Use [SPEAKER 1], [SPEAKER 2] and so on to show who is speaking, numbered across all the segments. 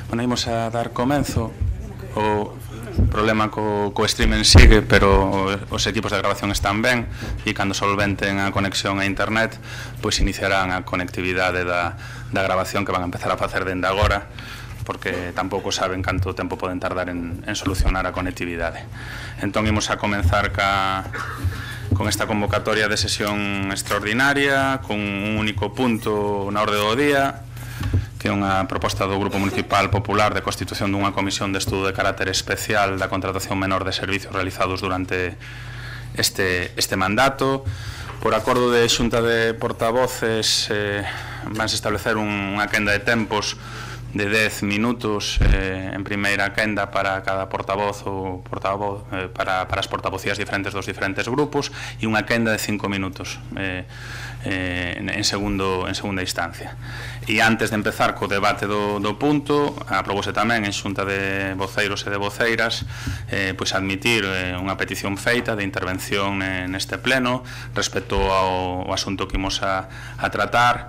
[SPEAKER 1] Bueno, imos a dar comenzo. O problema co streaming sigue, pero os equipos de grabación están ben e cando solventen a conexión a internet, pois iniciarán a conectividade da grabación que van a empezar a facer dende agora, porque tampouco saben canto tempo poden tardar en solucionar a conectividade. Entón, imos a comenzar con esta convocatoria de sesión extraordinaria, con un único punto na orde do día, que é unha proposta do Grupo Municipal Popular de constitución dunha comisión de estudo de carácter especial da contratación menor de servicios realizados durante este mandato. Por acordo de xunta de portavoces, vanse establecer unha quenda de tempos de 10 minutos en primeira quenda para cada portavoz ou portavoz para as portavocías diferentes dos diferentes grupos e unha quenda de 5 minutos en segunda instancia. E antes de empezar co debate do punto, aprobouse tamén en xunta de voceiros e de voceiras pois admitir unha petición feita de intervención neste pleno respecto ao asunto que imos a tratar,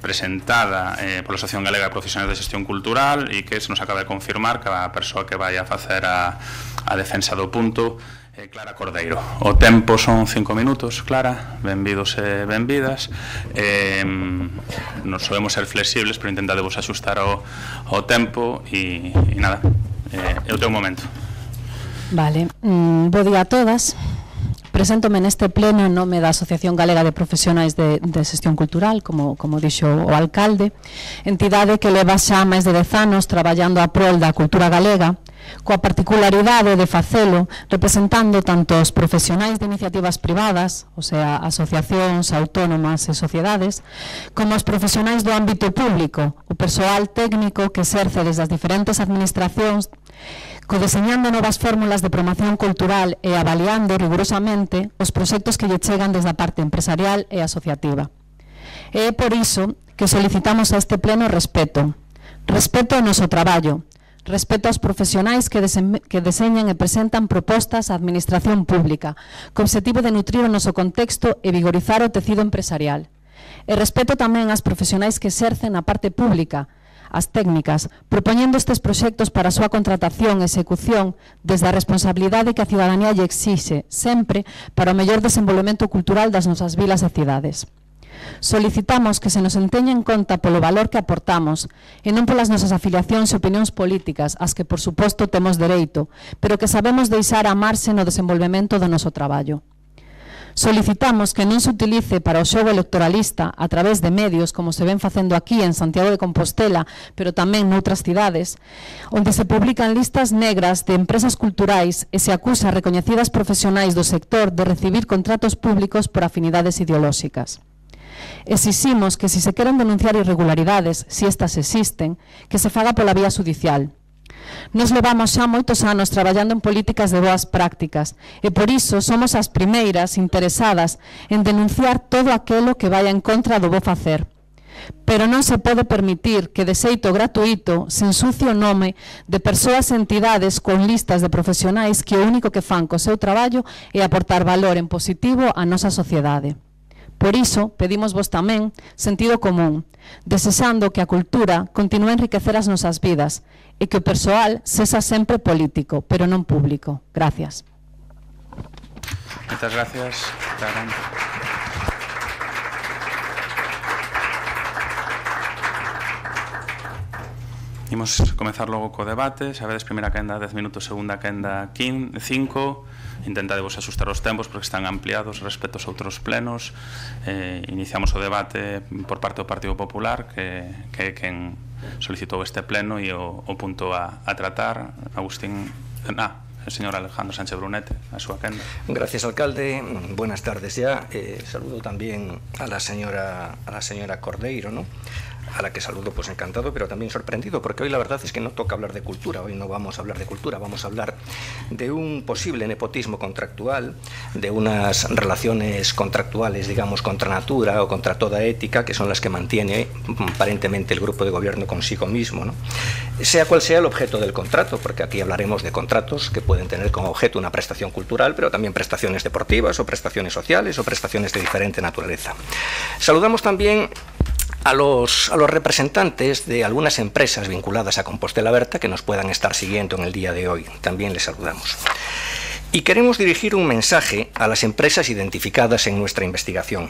[SPEAKER 1] presentada pola Asociación Galega de Profesionais de Xestión Cultural, e que se nos acaba de confirmar que a persoa que vai a facer a defensa do punto Clara Cordeiro. O tempo son 5 minutos, Clara, benvidos e benvidas. Nos solemos ser flexibles, pero intentadevos axustar ao tempo e nada, é o teu momento.
[SPEAKER 2] Vale, bo día a todas. Preséntome neste pleno en nome da Asociación Galega de Profesionais de Xestión Cultural, como dixo o alcalde, entidade que leva xa máis de 10 anos traballando a prol da cultura galega, coa particularidade de facelo representando tanto os profesionais de iniciativas privadas, o sea, asociacións, autónomas e sociedades, como os profesionais do ámbito público, o persoal técnico que exerce desde as diferentes administracións, codeseñando novas fórmulas de promoción cultural e avaliando rigurosamente os proxectos que lle chegan desde a parte empresarial e asociativa. E é por iso que solicitamos a este pleno respeto ao noso traballo, respeto aos profesionais que deseñan e presentan propostas á administración pública, co obxectivo de nutrir o noso contexto e vigorizar o tecido empresarial. E respeto tamén ás profesionais que exercen a parte pública, as técnicas, propoñendo estes proxectos para a súa contratación e execución desde a responsabilidade que a cidadanía lle exixe, sempre para o mellor desenvolvemento cultural das nosas vilas e cidades. Solicitamos que se nos enteña en conta polo valor que aportamos e non polas nosas afiliacións e opinións políticas, as que por suposto temos dereito, pero que sabemos deixar a marxe no desenvolvemento do noso traballo. Solicitamos que non se utilice para o xogo electoralista a través de medios como se ven facendo aquí en Santiago de Compostela, pero tamén noutras cidades, onde se publican listas negras de empresas culturais e se acusa a recoñecidas profesionais do sector de recibir contratos públicos por afinidades ideolóxicas. Exiximos que se queren denunciar irregularidades, se estas existen, que se faga pola vía judicial. Nos levamos xa moitos anos traballando en políticas de boas prácticas e por iso somos as primeiras interesadas en denunciar todo aquilo que vai en contra do bo facer. Pero non se pode permitir que de xeito gratuito se ensucie o nome de persoas e entidades con listas de profesionais que o único que fan co seu traballo é aportar valor en positivo á nosa sociedade. Por iso, pedimos vos tamén sentido común, desexando que a cultura continúe a enriquecer as nosas vidas e que o persoal sexa sempre político, pero non público. Gracias.
[SPEAKER 1] Moitas gracias, Clara. Imos comezar logo co debate. Sabedes, primeira quenda 10 minutos, segunda quenda 5. Intentadevos axustar os tempos porque están ampliados respecto aos outros plenos. Iniciamos o debate por parte do Partido Popular, que é quen solicitou este pleno e o punto a tratar. Agustín... el señor Alejandro Sánchez Brunete, a súa quenda.
[SPEAKER 3] Gracias, alcalde. Buenas tardes ya. Saludo también a la señora Cordeiro, ¿no? A la que saludo pues encantado, pero también sorprendido, porque hoy la verdad es que no toca hablar de cultura. Hoy no vamos a hablar de cultura, vamos a hablar de un posible nepotismo contractual, de unas relaciones contractuales, digamos, contra natura o contra toda ética, que son las que mantiene aparentemente el grupo de gobierno consigo mismo, ¿no? Sea cual sea el objeto del contrato, porque aquí hablaremos de contratos que pueden tener como objeto una prestación cultural, pero también prestaciones deportivas o prestaciones sociales o prestaciones de diferente naturaleza. Saludamos también a los representantes de algunas empresas vinculadas a Compostela Berta que nos puedan estar siguiendo en el día de hoy. También les saludamos. Y queremos dirigir un mensaje a las empresas identificadas en nuestra investigación.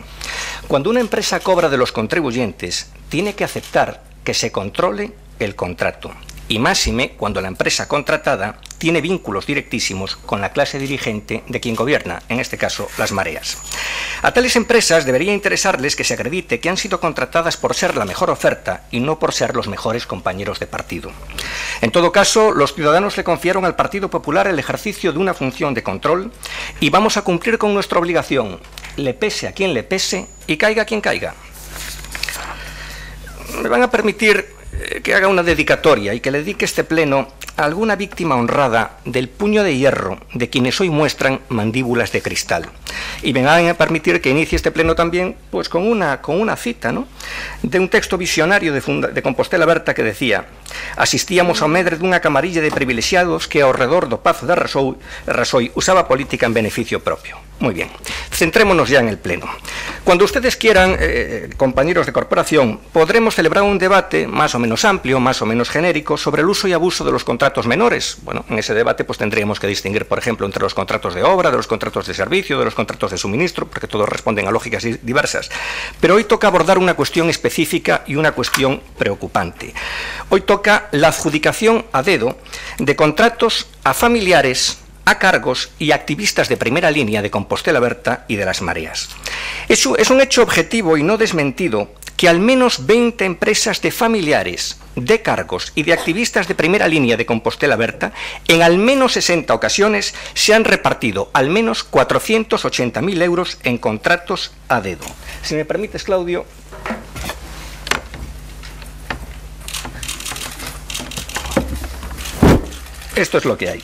[SPEAKER 3] Cuando una empresa cobra de los contribuyentes, tiene que aceptar que se controle el contrato. Y máxime cuando la empresa contratada tiene vínculos directísimos con la clase dirigente de quien gobierna, en este caso, las mareas. A tales empresas debería interesarles que se acredite que han sido contratadas por ser la mejor oferta y no por ser los mejores compañeros de partido. En todo caso, los ciudadanos le confiaron al Partido Popular el ejercicio de una función de control y vamos a cumplir con nuestra obligación, le pese a quien le pese y caiga quien caiga. Me van a permitir que haga una dedicatoria y que le dedique este pleno a alguna víctima honrada del puño de hierro de quienes hoy muestran mandíbulas de cristal. Y me van a permitir que inicie este pleno también pues con una cita, ¿no?, de un texto visionario de Compostela Berta que decía: asistíamos ao medre dunha camarilla de privilexiados que ao redor do Pazo de Rasoi usaba política en beneficio propio. Muy bien, centrémonos ya en el pleno. Cuando ustedes quieran, compañeros de corporación, podremos celebrar un debate más o menos amplio, más o menos genérico, sobre el uso y abuso de los contratos menores. Bueno, en ese debate pues tendríamos que distinguir, por ejemplo, entre los contratos de obra, de los contratos de servicio, de los contratos de suministro, porque todos responden a lógicas diversas. Pero hoy toca abordar una cuestión específica y una cuestión preocupante. Hoy toca la adjudicación a dedo de contratos a familiares, a cargos y activistas de primera línea de Compostela Berta y de las mareas. Es un hecho objetivo y no desmentido que al menos 20 empresas de familiares, de cargos y de activistas de primera línea de Compostela Berta, en al menos 60 ocasiones se han repartido al menos 480.000 euros en contratos a dedo. Si me permites, Claudio. Esto es lo que hay.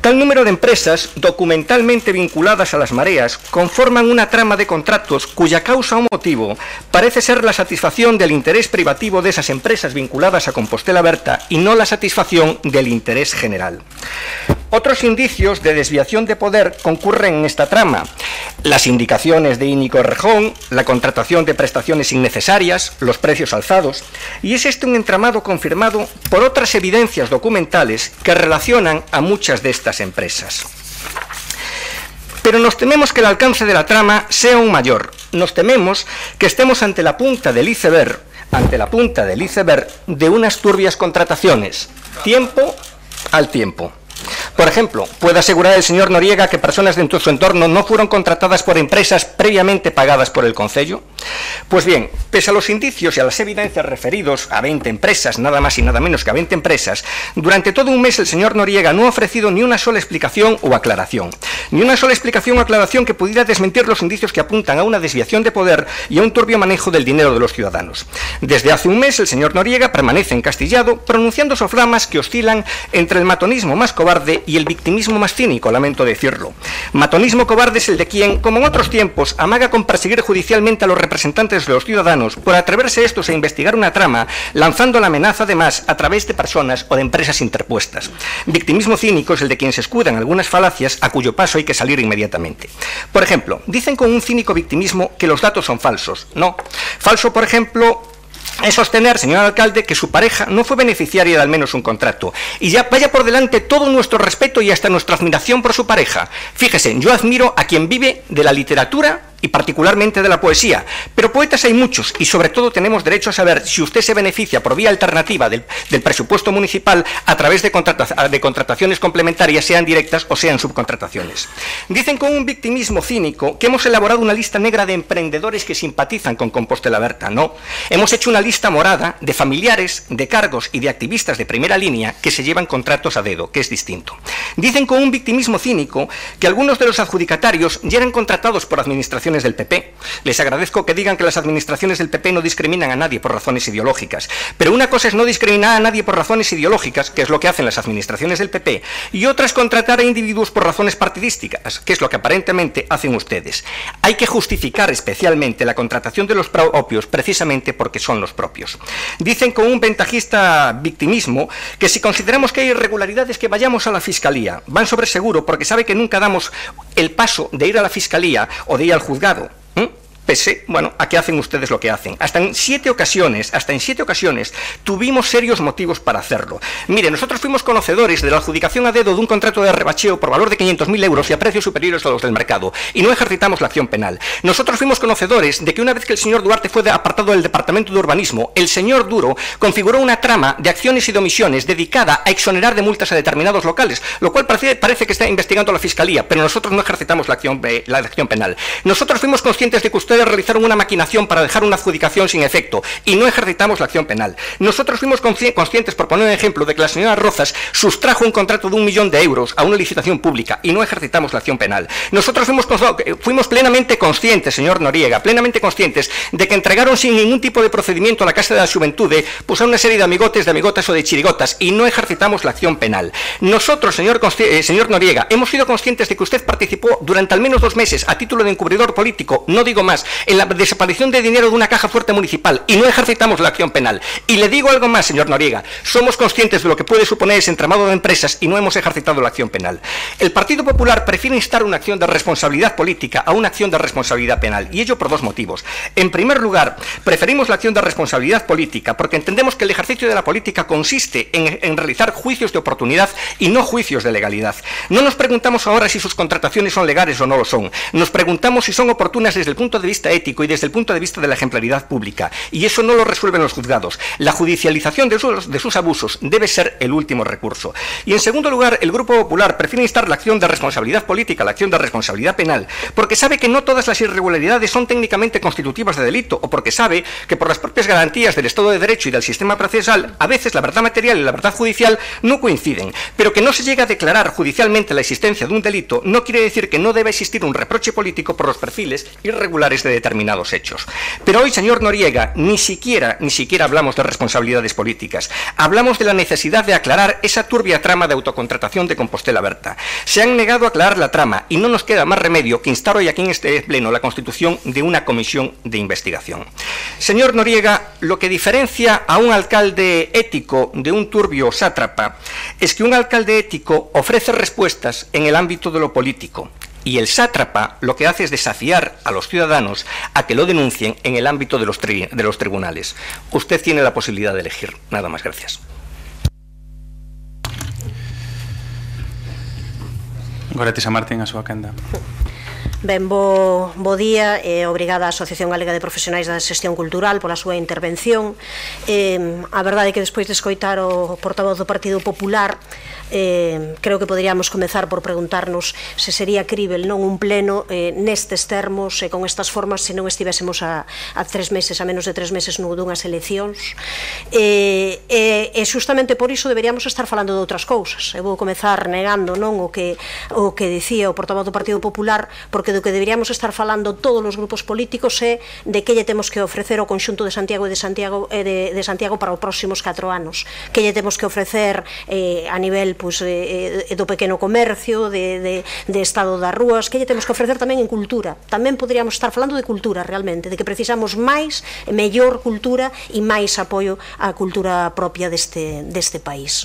[SPEAKER 3] Tal número de empresas documentalmente vinculadas a las mareas conforman una trama de contratos cuya causa o motivo parece ser la satisfacción del interés privativo de esas empresas vinculadas a Compostela Berta y no la satisfacción del interés general. Otros indicios de desviación de poder concurren en esta trama: las indicaciones de Íñigo Errejón, la contratación de prestaciones innecesarias, los precios alzados, y es este un entramado confirmado por otras evidencias documentales que relacionan a muchas de estas empresas. Pero nos tememos que el alcance de la trama sea aún mayor. Nos tememos que estemos ante la punta del iceberg, de unas turbias contrataciones, tiempo al tiempo. Por ejemplo, ¿puede asegurar el señor Noriega que personas de su entorno no fueron contratadas por empresas previamente pagadas por el Concello? Pues bien, pese a los indicios y a las evidencias referidos a 20 empresas, nada más y nada menos que a 20 empresas, durante todo un mes el señor Noriega no ha ofrecido ni una sola explicación o aclaración. Ni una sola explicación o aclaración que pudiera desmentir los indicios que apuntan a una desviación de poder y a un turbio manejo del dinero de los ciudadanos. Desde hace un mes el señor Noriega permanece encastillado, pronunciando soflamas que oscilan entre el matonismo más cobarde y el victimismo más cínico, lamento decirlo. Matonismo cobarde es el de quien, como en otros tiempos, amaga con perseguir judicialmente a los representantes de los ciudadanos por atreverse estos a investigar una trama, lanzando la amenaza además a través de personas o de empresas interpuestas. Victimismo cínico es el de quien se escuda en algunas falacias a cuyo paso hay que salir inmediatamente. Por ejemplo, dicen con un cínico victimismo que los datos son falsos. No. Falso, por ejemplo, es sostener, señor alcalde, que su pareja no fue beneficiaria de al menos un contrato. Y ya vaya por delante todo nuestro respeto y hasta nuestra admiración por su pareja. Fíjese, yo admiro a quien vive de la literatura y particularmente de la poesía, pero poetas hay muchos y sobre todo tenemos derecho a saber si usted se beneficia por vía alternativa del presupuesto municipal a través de contrataciones complementarias, sean directas o sean subcontrataciones. Dicen con un victimismo cínico que hemos elaborado una lista negra de emprendedores que simpatizan con Compostela Berta. No, hemos hecho una lista morada de familiares, de cargos y de activistas de primera línea que se llevan contratos a dedo, que es distinto. Dicen con un victimismo cínico que algunos de los adjudicatarios ya eran contratados por administraciones del PP. Les agradezco que digan que las administraciones del PP no discriminan a nadie por razones ideológicas, pero una cosa es no discriminar a nadie por razones ideológicas, que es lo que hacen las administraciones del PP, y otra es contratar a individuos por razones partidísticas, que es lo que aparentemente hacen ustedes. Hay que justificar especialmente la contratación de los propios precisamente porque son los propios. Dicen con un ventajista victimismo que si consideramos que hay irregularidades que vayamos a la Fiscalía. Van sobre seguro porque sabe que nunca damos el paso de ir a la Fiscalía o de ir al juzgado. pese, bueno, a que hacen ustedes lo que hacen. Hasta en 7 ocasiones tuvimos serios motivos para hacerlo. Mire, nosotros fuimos conocedores de la adjudicación a dedo de un contrato de rebacheo por valor de 500.000 euros y a precios superiores a los del mercado, y no ejercitamos la acción penal. Nosotros fuimos conocedores de que una vez que el señor Duarte fue apartado del Departamento de Urbanismo, el señor Duro configuró una trama de acciones y de omisiones dedicada a exonerar de multas a determinados locales, lo cual parece que está investigando la Fiscalía, pero nosotros no ejercitamos la acción penal. Nosotros fuimos conscientes de que ustedes realizaron una maquinación para dejar una adjudicación sin efecto y no ejercitamos la acción penal. Nosotros fuimos conscientes, por poner un ejemplo, de que la señora Rozas sustrajo un contrato de 1 millón de euros a una licitación pública y no ejercitamos la acción penal. Nosotros fuimos plenamente conscientes, señor Noriega, plenamente conscientes de que entregaron sin ningún tipo de procedimiento a la Casa de la Xuventude pues a una serie de amigotes, de amigotas o de chirigotas y no ejercitamos la acción penal. Nosotros, señor Noriega, hemos sido conscientes de que usted participó durante al menos 2 meses a título de encubridor político, no digo más, en la desaparición de dinero de una caja fuerte municipal y no ejercitamos la acción penal. Y le digo algo más, señor Noriega, somos conscientes de lo que puede suponer ese entramado de empresas y no hemos ejercitado la acción penal. El Partido Popular prefiere instar una acción de responsabilidad política a una acción de responsabilidad penal, y ello por 2 motivos. En primer lugar, preferimos la acción de responsabilidad política porque entendemos que el ejercicio de la política consiste en realizar juicios de oportunidad y no juicios de legalidad. No nos preguntamos ahora si sus contrataciones son legales o no lo son. Nos preguntamos si son oportunas desde el punto de vista ético y desde el punto de vista de la ejemplaridad pública. Y eso no lo resuelven los juzgados. La judicialización de sus abusos debe ser el último recurso. Y en segundo lugar, el Grupo Popular prefiere instar la acción de responsabilidad política a la acción de responsabilidad penal porque sabe que no todas las irregularidades son técnicamente constitutivas de delito o porque sabe que por las propias garantías del Estado de Derecho y del sistema procesal a veces la verdad material y la verdad judicial no coinciden, pero que no se llega a declarar judicialmente la existencia de un delito no quiere decir que no deba existir un reproche político por los perfiles irregulares de determinados hechos. Pero hoy, señor Noriega, ni siquiera hablamos de responsabilidades políticas. Hablamos de la necesidad de aclarar esa turbia trama de autocontratación de Compostela Berta. Se han negado a aclarar la trama y no nos queda más remedio que instar hoy aquí en este pleno la constitución de una comisión de investigación. Señor Noriega, lo que diferencia a un alcalde ético de un turbio sátrapa es que un alcalde ético ofrece respuestas en el ámbito de lo político y el sátrapa lo que hace es desafiar a los ciudadanos a que lo denuncien en el ámbito de los tribunales. Usted tiene la posibilidad de elegir. Nada más, gracias.
[SPEAKER 1] Goretti Martín, a súa quenda.
[SPEAKER 4] Ben, bo día e obrigada á Asociación Galega de Profesionais da Xestión Cultural pola súa intervención. A verdade é que despois de escoitar o portavoz do Partido Popular creo que poderíamos comezar por preguntarnos se sería crível non un pleno nestes termos e con estas formas se non estivésemos a 3 meses, a menos de 3 meses dunhas eleccións e justamente por iso deberíamos estar falando de outras cousas. Eu vou comezar negando non o que dicía o portavoz do Partido Popular, porque do que deberíamos estar falando todos os grupos políticos é de que lle temos que ofrecer ao conxunto de Santiago de Santiago para os próximos 4 anos, que lle temos que ofrecer a nivel do pequeno comercio, de estado das rúas, que lle temos que ofrecer tamén en cultura. Tamén poderíamos estar falando de cultura realmente, de que precisamos máis e mellor cultura e máis apoio á cultura propia deste país.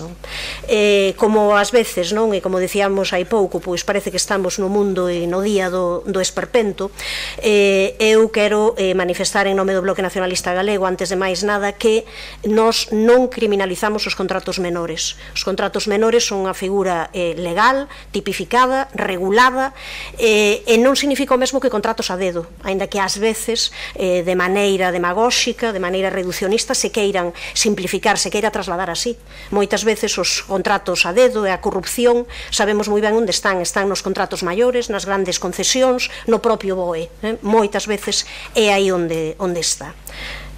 [SPEAKER 4] Como ás veces, non, e como dicíamos hai pouco, pois parece que estamos no mundo e no día do esperpento. Eu quero manifestar en nome do Bloque Nacionalista Galego, antes de máis nada, que nós non criminalizamos os contratos menores. Os contratos menores son unha figura legal, tipificada, regulada, e non significa o mesmo que contratos a dedo, aínda que ás veces de maneira demagóxica, de maneira reducionista, se queiran simplificar, se queira trasladar así. Moitas veces os contratos a dedo e a corrupción sabemos moi ben onde están nos contratos maiores, nas grandes concesións, no propio BOE. Moitas veces é aí onde está.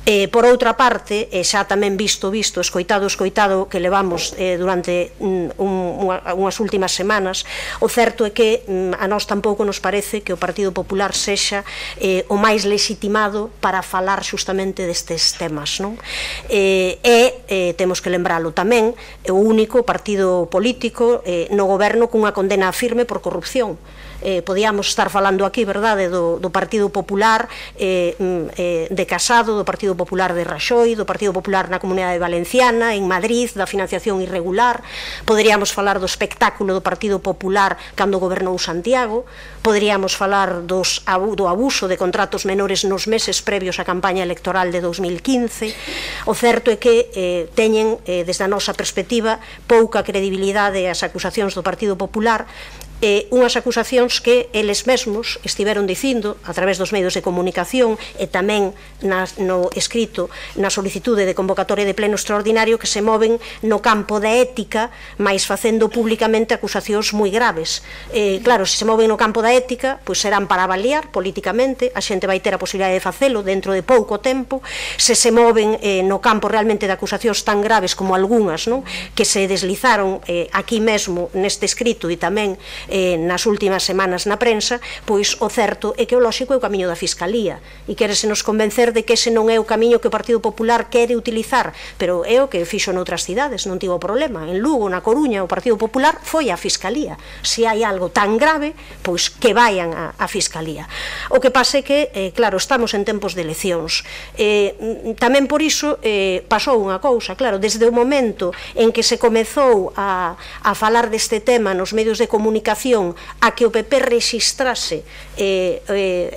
[SPEAKER 4] Por outra parte, xa tamén escoitado que levamos durante unhas últimas semanas, o certo é que a nós tampouco nos parece que o Partido Popular sexa o máis legitimado para falar xustamente destes temas, non? Temos que lembralo tamén, é o único partido político no goberno cunha condena firme por corrupción. podíamos estar falando aquí, verdade, do Partido Popular de Casado, do Partido Popular de Raxoi, do Partido Popular na Comunidade Valenciana, en Madrid, da financiación irregular, poderíamos falar do espectáculo do Partido Popular cando gobernou Santiago, poderíamos falar do abuso de contratos menores nos meses previos á campaña electoral de 2015. O certo é que teñen, desde a nosa perspectiva, pouca credibilidade as acusacións do Partido Popular, unhas acusacións que eles mesmos estiveron dicindo a través dos medios de comunicación e tamén no escrito na solicitude de convocatoria de pleno extraordinario, que se moven no campo da ética, mais facendo públicamente acusacións moi graves. Claro, se se moven no campo da ética, pois serán para avaliar políticamente, a xente vai ter a posibilidade de facelo dentro de pouco tempo. Se se moven no campo realmente de acusacións tan graves como algunhas, non, que se deslizaron aquí mesmo neste escrito e tamén nas últimas semanas na prensa, pois o certo é que o lóxico é o camiño da Fiscalía, e quérese nos convencer de que ese non é o camiño que o Partido Popular quere utilizar, pero é o que fixo noutras cidades, non tivo problema. En Lugo, na Coruña, o Partido Popular foi á Fiscalía. Se hai algo tan grave, pois que vayan á Fiscalía. O que pasa é que, claro, estamos en tempos de eleccións. Tamén por iso pasou unha cousa, claro, desde o momento en que se comezou a falar deste tema nos medios de comunicación, a que o PP rexistrase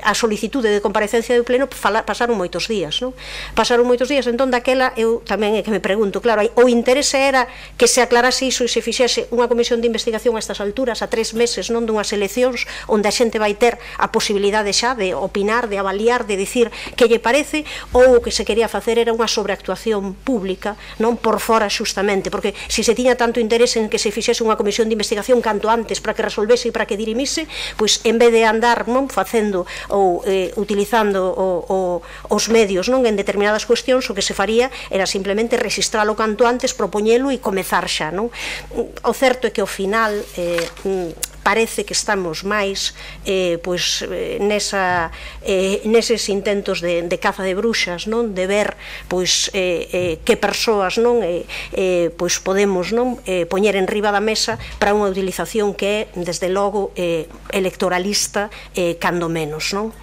[SPEAKER 4] a solicitude de comparecencia do pleno, pasaron moitos días, non? Pasaron moitos días, entón daquela eu tamén é que me pregunto, claro, o interese era que se aclarase iso e se fixese unha comisión de investigación a estas alturas, a 3 meses, non, dunhas eleccións onde a xente vai ter a posibilidade xa de opinar, de avaliar, de dicir que lle parece, ou o que se quería facer era unha sobreactuación pública, non, por fora xustamente, porque se tiña tanto interese en que se fixese unha comisión de investigación canto antes para que resolvese e para que dirimise, pois en vez de andar, non, facendo ou utilizando os medios, non, en determinadas cuestións, o que se faría era simplemente registralo canto antes, propoñelo e comezar xa, non? O certo é que ao final parece que estamos máis neses intentos de caza de bruxas, non, de ver pois que persoas, non, pois podemos, non, poñer en riba da mesa para unha utilización que é, desde logo, electoralista, cando menos, non?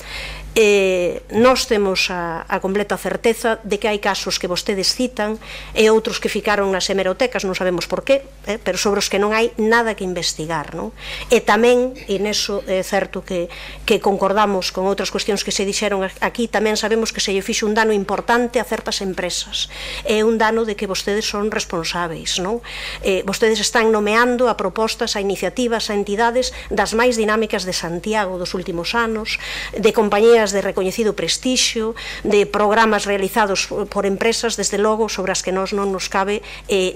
[SPEAKER 4] Nós temos a completa certeza de que hai casos que vostedes citan e outros que ficaron nas hemerotecas, non sabemos por qué, pero sobre os que non hai nada que investigar, non? E tamén, e neso é certo que concordamos con outras cuestións que se dixeron aquí, tamén sabemos que se lle fixo un dano importante a certas empresas, é un dano de que vostedes son responsáveis, non? Vostedes están nomeando a propostas, a iniciativas, a entidades das máis dinámicas de Santiago dos últimos anos, de compañías de recoñecido prestixio, de programas realizados por empresas, desde logo, sobre as que non nos cabe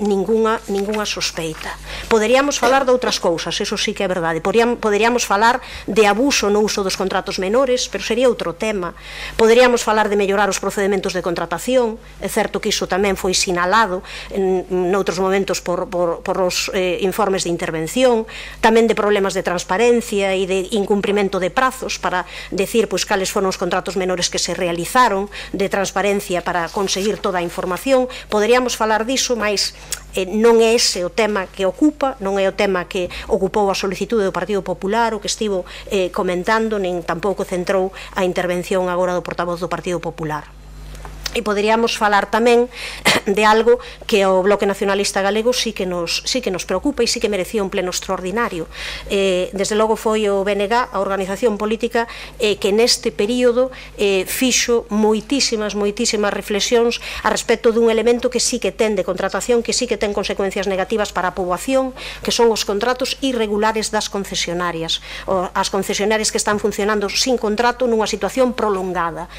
[SPEAKER 4] ningunha sospeita. Poderíamos falar de outras cousas, eso sí que é verdade. Poderíamos falar de abuso no uso dos contratos menores, pero sería outro tema. Poderíamos falar de mellorar os procedementos de contratación, é certo que iso tamén foi sinalado noutros momentos por os informes de intervención, tamén de problemas de transparencia e de incumprimento de prazos para decir pois cales foron os contratos menores que se realizaron, de transparencia para conseguir toda a información. Poderíamos falar diso, mas non é ese o tema que ocupa, non é o tema que ocupou a solicitude do Partido Popular, o que estivo comentando, nen tampouco centrou a intervención agora do portavoz do Partido Popular. E poderíamos falar tamén de algo que ao Bloque Nacionalista Galego sí que nos preocupa e sí que merecía un pleno extraordinario. Desde logo foi o BNG, a organización política, que neste período fixo moitísimas reflexións a respecto dun elemento que sí que ten de contratación, que sí que ten consecuencias negativas para a poboación, que son os contratos irregulares das concesionarias, as concesionarias que están funcionando sin contrato nunha situación prolongada.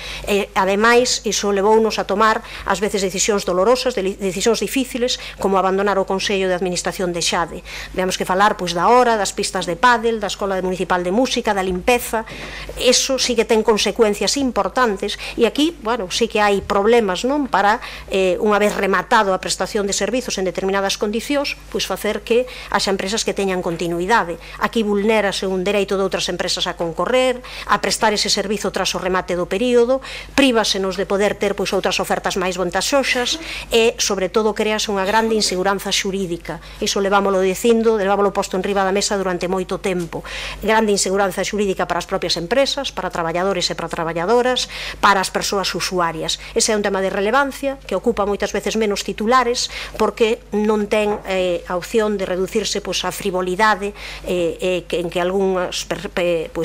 [SPEAKER 4] Ademais, iso levounos a tomar ás veces decisións dolorosas, decisións difíciles, como abandonar o Consello de Administración de Xade. Veamos que falar pois da hora, das pistas de pádel, da Escola Municipal de Música, da limpeza. Eso sí que ten consecuencias importantes e aquí, bueno, sí que hai problemas, non, para unha vez rematado a prestación de servizos en determinadas condicións, pois facer que haxa empresas que teñan continuidade. Aquí vulnérase un dereito de outras empresas a concorrer, a prestar ese servizo tras o remate do período, prívasenos de poder ter pois pois outras ofertas máis vantaxosas e, sobre todo, crease unha grande inseguranza xurídica. Iso levámoslo dicindo, levámoslo posto en riba da mesa durante moito tempo. Grande inseguranza xurídica para as propias empresas, para traballadores e para traballadoras, para as persoas usuarias. Ese é un tema de relevancia que ocupa moitas veces menos titulares porque non ten a opción de reducirse a frivolidade en que algúns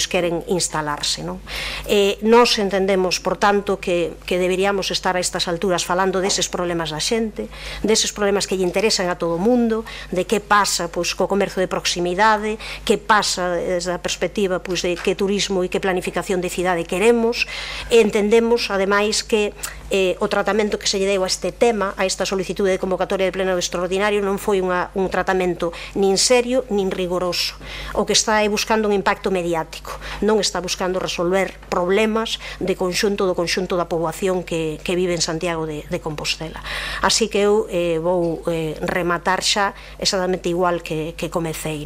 [SPEAKER 4] queren instalarse. Nós entendemos, por tanto, que deberíamos estar a estas alturas falando deses problemas da xente, deses problemas que lle interesan a todo o mundo, de que pasa co comercio de proximidade, que pasa desde a perspectiva de que turismo e que planificación de cidade queremos. Entendemos, ademais, que o tratamento que se lle deu a este tema, a esta solicitude de convocatoria de pleno extraordinario, non foi un tratamento nin serio nin rigoroso. O que está é buscando un impacto mediático, non está buscando resolver problemas do conxunto da poboación que vive en Santiago de Compostela. Así que eu vou rematar xa exactamente igual que comecei.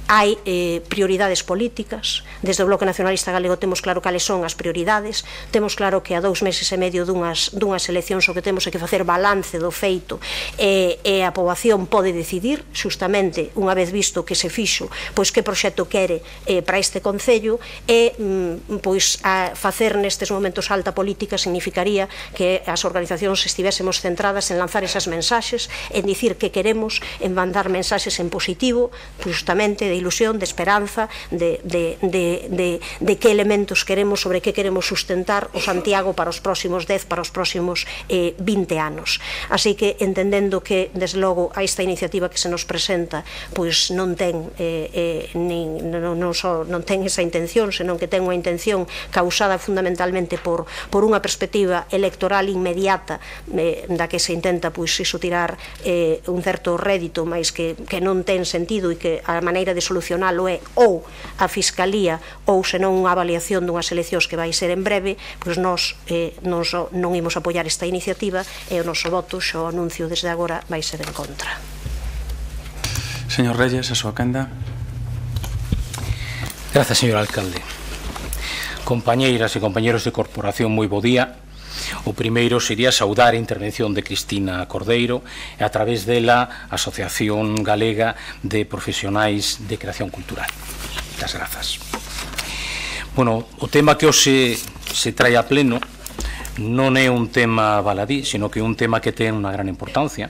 [SPEAKER 4] Hai prioridades políticas, desde o Bloque Nacionalista Galego temos claro cales son as prioridades, temos claro que a 2 meses e medio dunhas eleccións o que temos é que facer balance do feito e a poboación pode decidir, justamente, unha vez visto que se fixo, pois que proxecto quere para este Concello e facer nestes momentos alta política significaría que as organizacións estivésemos centradas en lanzar esas mensaxes, en dicir que queremos, en mandar mensaxes en positivo, justamente de ilusión, de esperanza, de que elementos queremos, sobre que queremos sustentar o Santiago para os próximos 10, para os próximos 20 anos. Así que, entendendo que, desde logo, a esta iniciativa que se nos presenta pois non ten esa intención, senón que ten unha intención causada fundamentalmente por unha perspectiva electoral inmediata da que se intenta tirar un certo rédito, mas que non ten sentido e que a maneira de solucionalo é ou a Fiscalía ou senón unha avaliación dunhas eleccións que vai ser en breve, pois nós non imos apoiar esta iniciativa e o noso voto, xo anuncio desde agora, vai ser en contra.
[SPEAKER 1] Señor Reyes, a súa quenda.
[SPEAKER 5] Grazas, señor alcalde. Compañeiras e compañeros de corporación, moi bo día. O primeiro sería saudar a intervención de Cristina Cordeiro e a través dela a Asociación Galega de Profesionais de Creación Cultural. Moitas grazas. Bueno, o tema que hoxe se trae a pleno non é un tema baladí, sino que é un tema que ten unha gran importancia,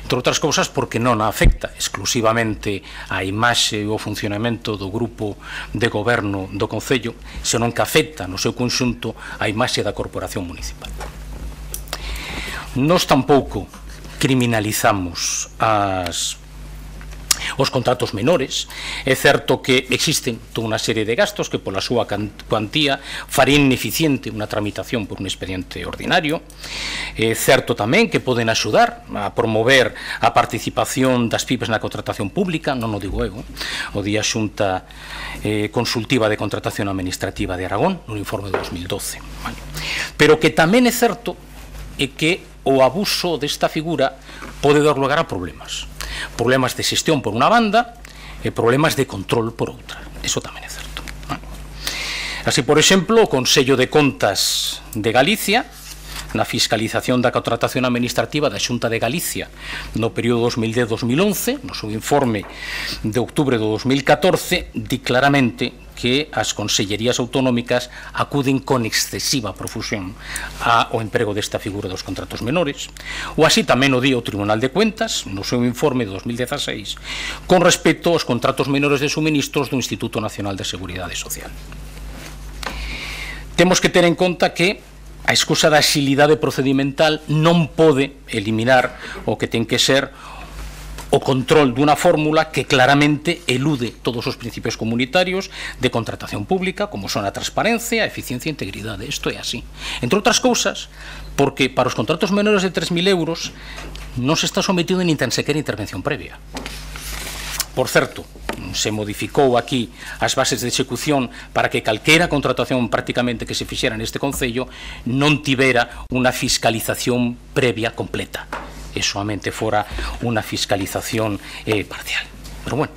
[SPEAKER 5] entre outras cousas porque non afecta exclusivamente a imaxe e o funcionamento do grupo de goberno do Concello, senón que afecta no seu conxunto a imaxe da corporación municipal. Nós tampouco criminalizamos os contratos menores. É certo que existen toda unha serie de gastos que pola súa cuantía farían ineficiente unha tramitación por un expediente ordinario. É certo tamén que poden axudar a promover a participación das PIPEs na contratación pública, non o digo eu, o día Xunta Consultiva de Contratación Administrativa de Aragón, nun informe de 2012. Pero que tamén é certo é que o abuso desta figura pode dar lugar a problemas de xestión por unha banda e problemas de control por outra. Eso tamén é certo. Así, por exemplo, o Consello de Contas de Galicia, na fiscalización da contratación administrativa da Xunta de Galicia no período 2010-2011, no seu informe de outubro de 2014, di claramente que as consellerías autonómicas acuden con excesiva profusión ao emprego desta figura dos contratos menores, ou así tamén o di o Tribunal de Cuentas no seu informe de 2016 con respecto aos contratos menores de suministros do Instituto Nacional de Seguridade Social. Temos que ter en conta que a excusa da axilidade procedimental non pode eliminar o que ten que ser o control dunha fórmula que claramente elude todos os principios comunitarios de contratación pública, como son a transparencia, a eficiencia e integridade. Isto é así. Entre outras cousas, porque para os contratos menores de 3.000 euros non se está sometido nin tan sequera intervención previa. Por certo, se modificou aquí as bases de execución para que calquera contratación prácticamente que se fixera neste Concello non tivera unha fiscalización previa completa, e solamente fora unha fiscalización parcial. Pero bueno,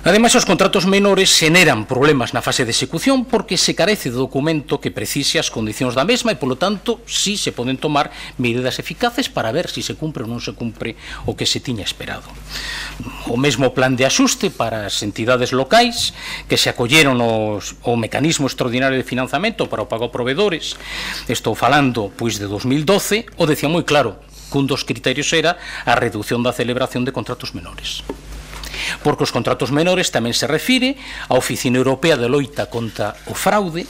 [SPEAKER 5] Ademais, os contratos menores xeneran problemas na fase de execución porque se carece de documento que precise as condicións da mesma e, polo tanto, si se poden tomar medidas eficaces para ver se se cumpre ou non se cumpre o que se tiña esperado. O mesmo plan de axuste para as entidades locais que se acolleron ao mecanismo extraordinario de financiamento para o pago a proveedores, estou falando pois de 2012, o decía moi claro que un dos criterios era a reducción da celebración de contratos menores. Porque os contratos menores tamén se refire á Oficina Europea de Loita contra o Fraude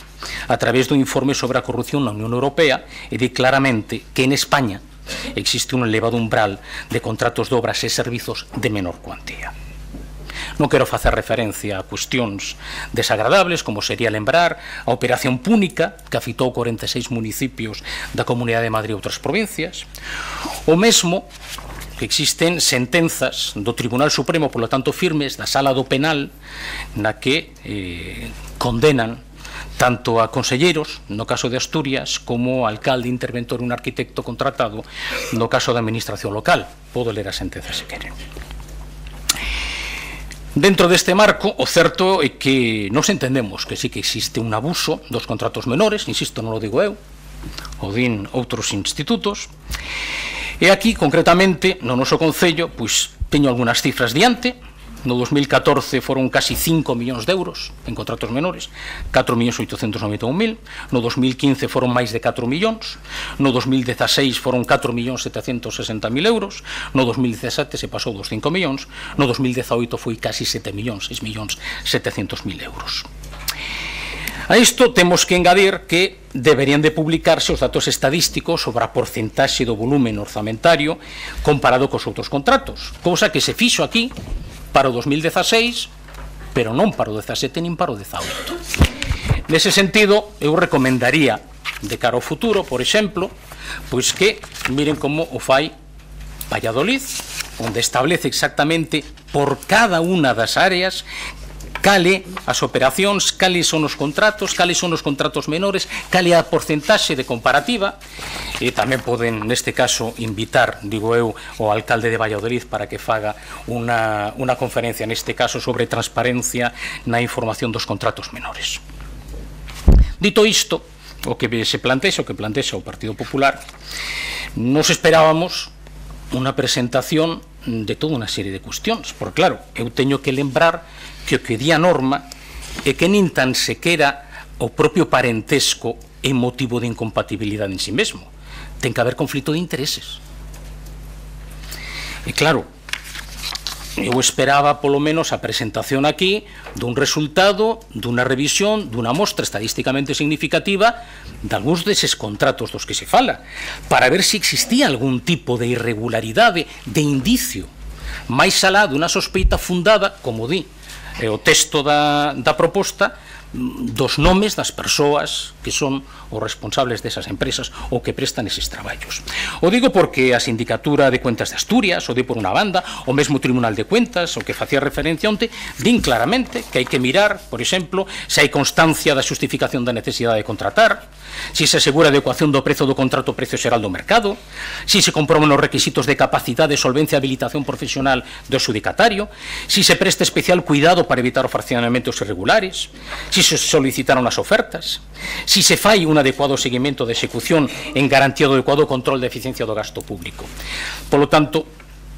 [SPEAKER 5] a través do informe sobre a corrupción na Unión Europea e di claramente que en España existe un elevado umbral de contratos de obras e servizos de menor cuantía. Non quero facer referencia a cuestións desagradables, como sería lembrar a Operación Púnica, que afectou 46 municipios da Comunidade de Madrid e outras provincias, o mesmo que existen sentenzas do Tribunal Supremo, polo tanto firmes, da Sala do Penal, na que condenan tanto a conselleiros, no caso de Asturias, como alcalde, interventor e un arquitecto contratado, no caso da administración local. Podo ler a sentenza se queren. Dentro deste marco, o certo é que nos entendemos que sí que existe un abuso dos contratos menores, insisto, non o digo eu, o din outros institutos. E aquí, concretamente, no noso Concello, pois, teño algunhas cifras diante. No 2014 foron casi 5 millóns de euros en contratos menores, 4.891.000. No 2015 foron máis de 4 millóns. No 2016 foron 4.760.000 euros. No 2017 se pasou dos 5 millóns. No 2018 foi casi 7 millóns, 6.700.000 euros. A isto temos que engadir que deberían de publicarse os datos estadísticos sobre a porcentaxe do volumen orzamentario comparado cos outros contratos, cousa que se fixo aquí para o 2016, pero non para o 17 nin para o 18. Nese sentido, eu recomendaría de cara ao futuro, por exemplo, pois que miren como o fai Valladolid, onde establece exactamente por cada unha das áreas cale as operacións, cales son os contratos menores, cale a porcentaxe de comparativa. E tamén poden, neste caso, invitar, digo eu, o alcalde de Valladolid para que faga unha conferencia, neste caso, sobre transparencia na información dos contratos menores. Dito isto, o que se plantexa, o Partido Popular, nos esperábamos unha presentación de toda unha serie de cuestións, porque claro, eu teño que lembrar que o que di a norma é que nin tan sequera o propio parentesco é motivo de incompatibilidade en si mesmo, ten que haber conflito de intereses. E claro, eu esperaba polo menos a presentación aquí dun resultado, dunha revisión, dunha mostra estadísticamente significativa de algúns deses contratos dos que se fala, para ver se existía algún tipo de irregularidade, de indicio, máis alá dunha sospeita fundada, como di o texto da proposta, dos nomes das persoas que son os responsables desas empresas ou que prestan eses traballos. O digo porque a Sindicatura de Cuentas de Asturias, o di por unha banda, o mesmo Tribunal de Cuentas, o que facía referencia onte, din claramente que hai que mirar, por exemplo, se hai constancia da xustificación da necesidade de contratar, se se asegura a adecuación do prezo do contrato ao precio xeral do mercado, se se comproban os requisitos de capacidade, solvencia e habilitación profesional do adxudicatario, se se presta especial cuidado para evitar os fraccionamentos irregulares, se se solicitaron as ofertas, se se fai un adecuado seguimento de execución en garantía do adecuado control de eficiencia do gasto público. Polo tanto,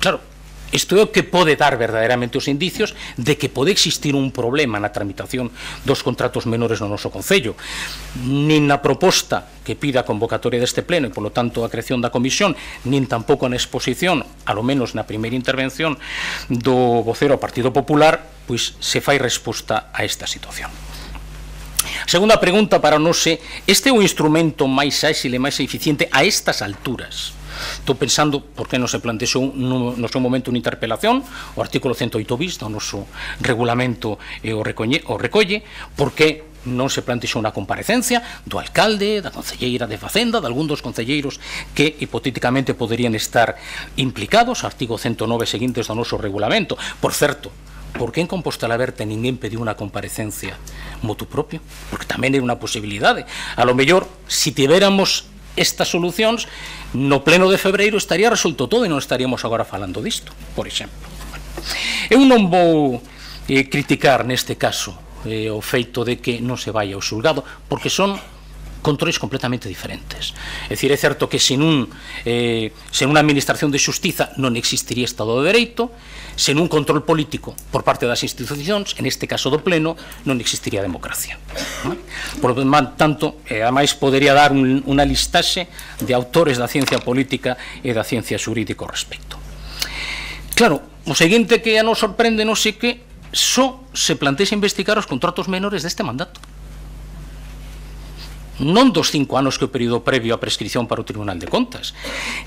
[SPEAKER 5] claro, isto é o que pode dar verdadeiramente os indicios de que pode existir un problema na tramitación dos contratos menores no noso Concello. Nin na proposta que pida a convocatoria deste pleno e, polo tanto, a creación da comisión, nin tampouco na exposición, alo menos na primeira intervención do vocero ao Partido Popular, pois se fai resposta a esta situación. Segunda pregunta para nós é: este é o instrumento máis áxil e máis eficiente a estas alturas? Estou pensando por que non se plantexou no seu momento unha interpelación, o artículo 108 bis do noso regulamento o recolle, por que non se plantexou unha comparecencia do alcalde, da concelleira de Facenda, de algún dos concelleiros que hipotéticamente poderían estar implicados, artigo 109 seguintes do noso regulamento. Por certo, por que en Compostela Verde ninguén pediu unha comparecencia motu propio? Porque tamén é unha posibilidade. A lo mellor, se tivéramos estas solucións, no pleno de febreiro estaría resolto todo e non estaríamos agora falando disto, por exemplo. Eu non vou criticar neste caso o feito de que non se vai ao xulgado, porque son controles completamente diferentes. É dicir, é certo que sen unha administración de xustiza non existiría Estado de Dereito, sen un control político por parte das institucións, en este caso do Pleno, non existiría democracia. Por lo tanto, ademais podería dar unha listaxe de autores da ciencia política e da ciencia xurídica ao respecto. Claro, o seguinte que a nos sorprende non sei que só se plantexa investigar os contratos menores deste mandato, non dos 5 anos que o período previo á prescripción para o Tribunal de Contas,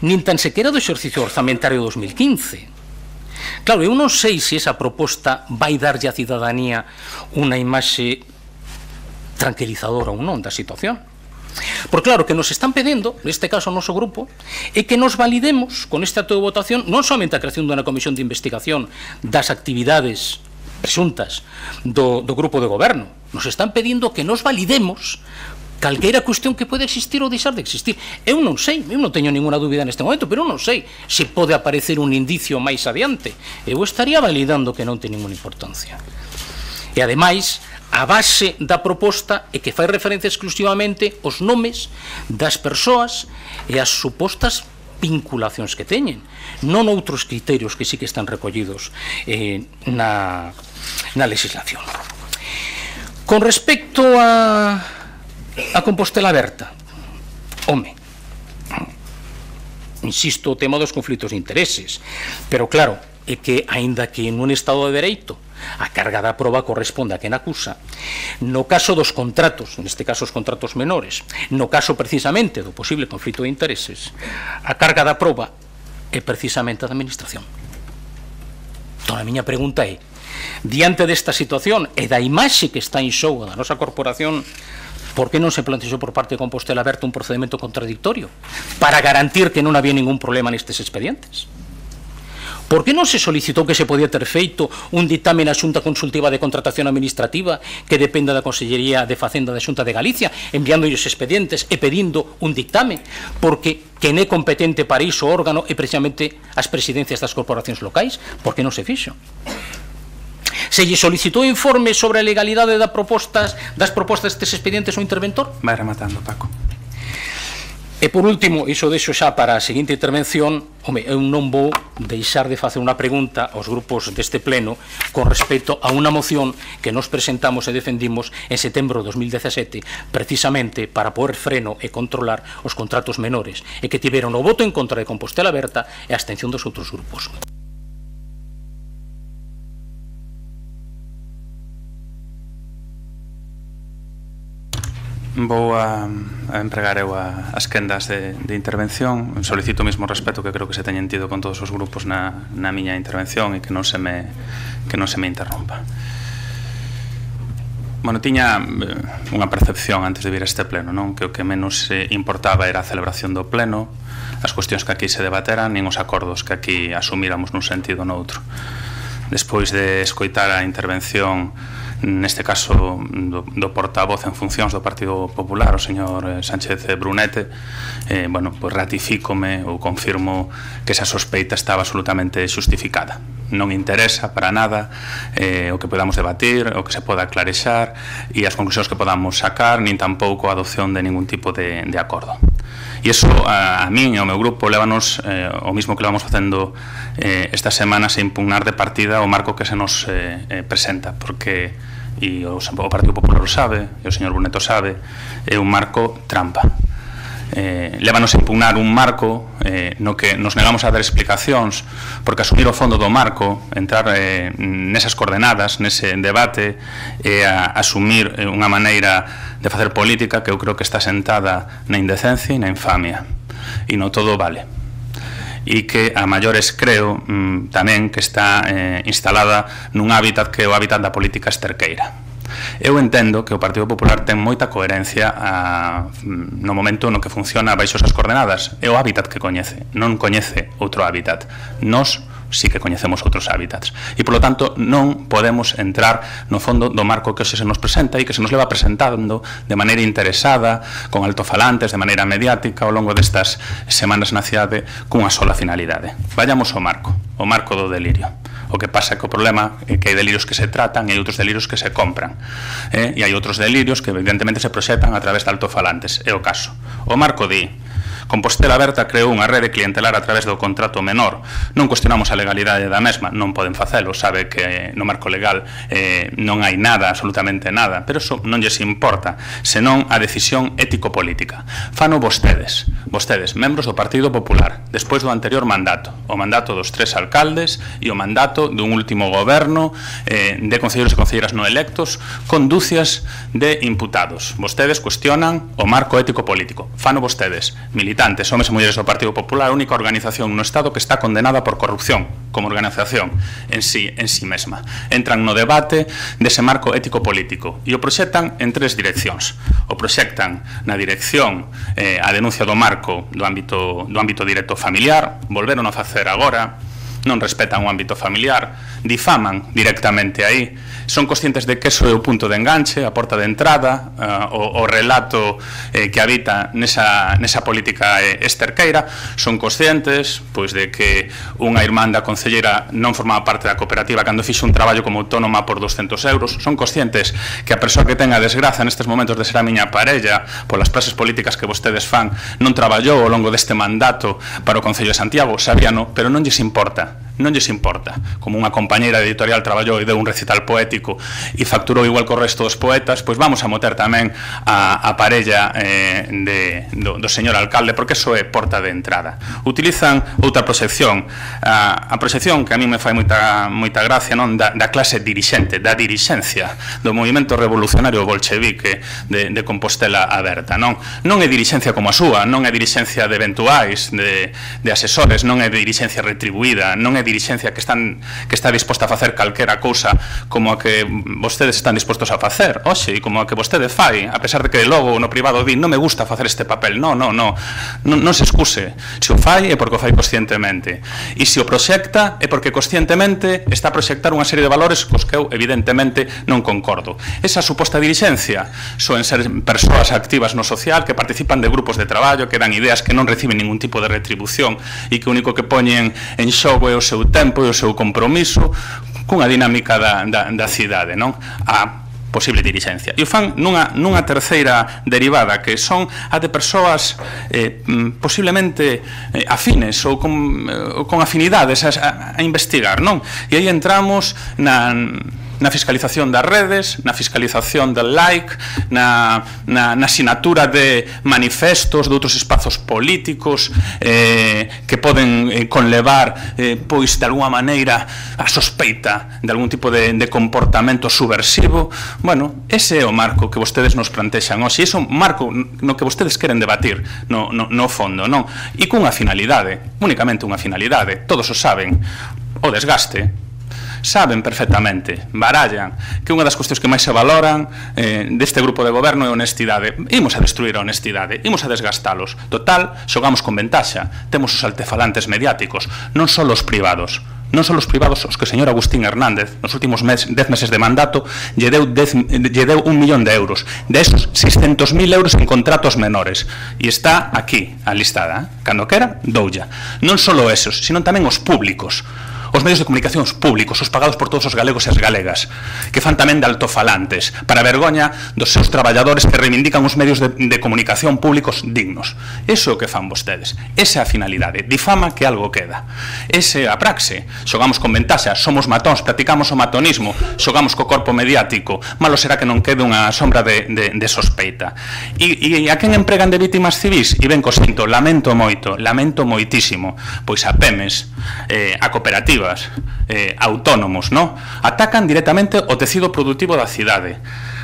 [SPEAKER 5] nin tan sequera do exercicio orzamentario 2015. Claro, eu non sei se esa proposta vai darlle á cidadanía unha imaxe tranquilizadora ou non da situación. Porque claro, que nos están pedindo, neste caso o noso grupo, é que nos validemos con este acto de votación non somente a creación dunha comisión de investigación das actividades presuntas do grupo de goberno, nos están pedindo que nos validemos calqueira cuestión que pode existir ou deixar de existir. Eu non sei, eu non teño ninguna dúbida neste momento, pero eu non sei se pode aparecer un indicio máis adiante. Eu estaría validando que non ten ninguna importancia. E ademais, a base da proposta é que fai referencia exclusivamente aos nomes das persoas e as supostas vinculacións que teñen, non outros criterios que sí que están recollidos na legislación. Con respecto a Compostela Aberta, home, insisto, o tema dos conflitos de intereses, pero claro, é que, aínda que nun Estado de Dereito a carga da proba corresponde a quen acusa, no caso dos contratos, neste caso os contratos menores, no caso precisamente do posible conflito de intereses, a carga da proba é precisamente a da administración. Entón, a miña pregunta é, diante desta situación e da imaxe que está en xogo da nosa corporación, por que non se plantexou por parte de Compostela Aberta un procedimento contradictorio para garantir que non había ningún problema nestes expedientes? Por que non se solicitou que se podía ter feito un ditame na Xunta Consultiva de Contratación Administrativa que dependa da Consellería de Facenda da Xunta de Galicia, enviando os expedientes e pedindo un dictame, porque quen é competente para iso órgano é precisamente as presidencias das corporacións locais? Por que non se fixo? Se lle solicitou informe sobre a legalidade das propostas destes expedientes ao interventor?
[SPEAKER 1] Vai rematando, Paco.
[SPEAKER 5] E por último, iso deixo xa para a seguinte intervención, home, eu non vou deixar de facer unha pregunta aos grupos deste pleno con respecto a unha moción que nos presentamos e defendimos en setembro de 2017 precisamente para poder freno e controlar os contratos menores e que tiveron o voto en contra de Compostela Aberta e a abstención dos outros grupos.
[SPEAKER 1] Vou a empregar eu as quendas de intervención. Solicito o mesmo respeto que creo que se teñen tido con todos os grupos na miña intervención e que non se me interrompa. Bueno, tiña unha percepción antes de vir a este pleno, non? Que o que menos importaba era a celebración do pleno, as cuestións que aquí se debateran, nin os acordos que aquí asumíramos nun sentido ou noutro. Despois de escoitar a intervención, neste caso do portavoz en funcións do Partido Popular, o señor Sánchez Brunete, bueno, pois ratifícome ou confirmo que esa sospeita estaba absolutamente xustificada. Non interesa para nada o que podamos debatir, o que se poda clarexar e as conclusións que podamos sacar, nin tampouco a adopción de ningún tipo de acordo. E iso a min e ao meu grupo lévanos o mismo que levamos facendo estas semanas a impugnar de partida o marco que se nos presenta, porque e o Partido Popular o sabe, e o señor Bruneto sabe, é un marco trampa. Lévanos a impugnar un marco no que nos negamos a dar explicacións, porque asumir o fondo do marco, entrar nesas coordenadas, nese debate, e a asumir unha maneira de facer política que eu creo que está sentada na indecencia e na infamia, e no todo vale. E que a maiores creo tamén que está instalada nun hábitat que é o hábitat da política esterqueira. Eu entendo que o Partido Popular ten moita coherencia no momento no que funciona baixo esas coordenadas. É o hábitat que coñece, non coñece outro hábitat. Nós sí que coñecemos outros hábitats. E, polo tanto, non podemos entrar no fondo do marco que hoxe se nos presenta e que se nos leva presentando de maneira interesada, con altofalantes, de maneira mediática, ao longo destas semanas na cidade, cunha sola finalidade. Vayamos ao marco do delirio. O O que pasa é que o problema é que hai delirios que se tratan e hai outros delirios que se compran. E hai outros delirios que evidentemente se proxectan a través de altofalantes. É o caso. O Marco di: Compostela Aberta creou unha rede clientelar a través do contrato menor. Non cuestionamos a legalidade da mesma, non poden facelo, sabe que no marco legal non hai nada, absolutamente nada, pero eso non lles importa, senón a decisión ético-política. Fano vostedes, membros do Partido Popular, despois do anterior mandato, o mandato dos 3 alcaldes e o mandato dun último goberno de concelleiros e concelleiras non electos con dúcias de imputados. Vostedes cuestionan o marco ético-político. Fano vostedes, militantes, homes e mulleres do Partido Popular, a única organización no Estado que está condenada por corrupción como organización en sí mesma. Entran no debate dese marco ético-político e o proxectan en 3 direccións. O proxectan na dirección a denuncia do marco do ámbito directo familiar, volveron a facer agora, non respetan o ámbito familiar, difaman directamente aí, son conscientes de que eso é o punto de enganche, a porta de entrada, o relato que habita nesa política esterqueira, son conscientes pois de que unha irmán da concelleira non formaba parte da cooperativa cando fixo un traballo como autónoma por 200 euros, son conscientes que a persoa que ten a desgraza nestes momentos de ser a miña parella polas praxes políticas que vostedes fan non traballou ao longo deste mandato para o Concello de Santiago, sabíano, pero non lles importa. Non lles importa. Como unha compañeira editorial traballou e deu un recital poético e facturou igual co resto dos poetas, pois vamos a moter tamén a parella do señor alcalde, porque eso é porta de entrada. Utilizan outra proxección, a proxección que a mí me fai moita gracia, non, da clase dirixente, da dirixencia do movimento revolucionario bolchevique de Compostela Aberta, non é dirixencia como a súa, non é dirixencia de eventuais, de asesores, non é dirixencia retribuída, non é dirixencia que está disposta a facer calquera cousa como a que vostedes están dispostos a facer, oxe, e como a que vostede fai, a pesar de que logo no privado di non me gusta facer este papel, non se excuse, se o fai é porque o fai conscientemente, e se o proxecta é porque conscientemente está a proxectar unha serie de valores cos que eu evidentemente non concordo. Esa suposta dirixencia soen ser persoas activas no social que participan de grupos de traballo, que dan ideas que non reciben ningún tipo de retribución e que o único que poñen en xogo é o seu tempo e o seu compromiso cunha dinámica da cidade, non? A posible dirixencia. E o fan nunha terceira derivada, que son a de persoas posiblemente afines ou con afinidades a investigar, non? E aí entramos na fiscalización das redes, na fiscalización del like, na asinatura de manifestos de outros espazos políticos que poden conlevar pois de alguma maneira a sospeita de algún tipo de comportamento subversivo. Bueno, ese é o marco que vostedes nos plantexan hoxe, ese é o marco no que vostedes queren debatir no fondo, non? E cunha finalidade, únicamente unha finalidade, todos o saben, o desgaste. Saben perfectamente, barallan, que unha das cuestións que máis se valoran deste grupo de goberno é a honestidade. Imos a destruir a honestidade, imos a desgastalos. Total, xogamos con ventaxa, temos os altefalantes mediáticos, non só os privados. Non son os privados os que o señor Agustín Hernández nos últimos 10 meses de mandato lle deu 1 millón de euros, de esos 600.000 euros en contratos menores, e está aquí a listada, cando quera, doulla. Non só esos, sino tamén os públicos, os medios de comunicación públicos, os pagados por todos os galegos e as galegas, que fan tamén de altofalantes, para vergoña dos seus traballadores que reivindican os medios de comunicación públicos dignos. Iso é o que fan vostedes. Esa é a finalidade. Difama que algo queda. Esa é a praxe. Xogamos con ventaxa, somos matóns, practicamos o matonismo, xogamos co corpo mediático. Malo será que non quede unha sombra de sospeita. E a quen empregan de vítimas civis? E ben co sinto, lamento moitísimo, pois a PEMES, a cooperativa, autónomos, ¿no? Atacan directamente o tecido productivo da cidade,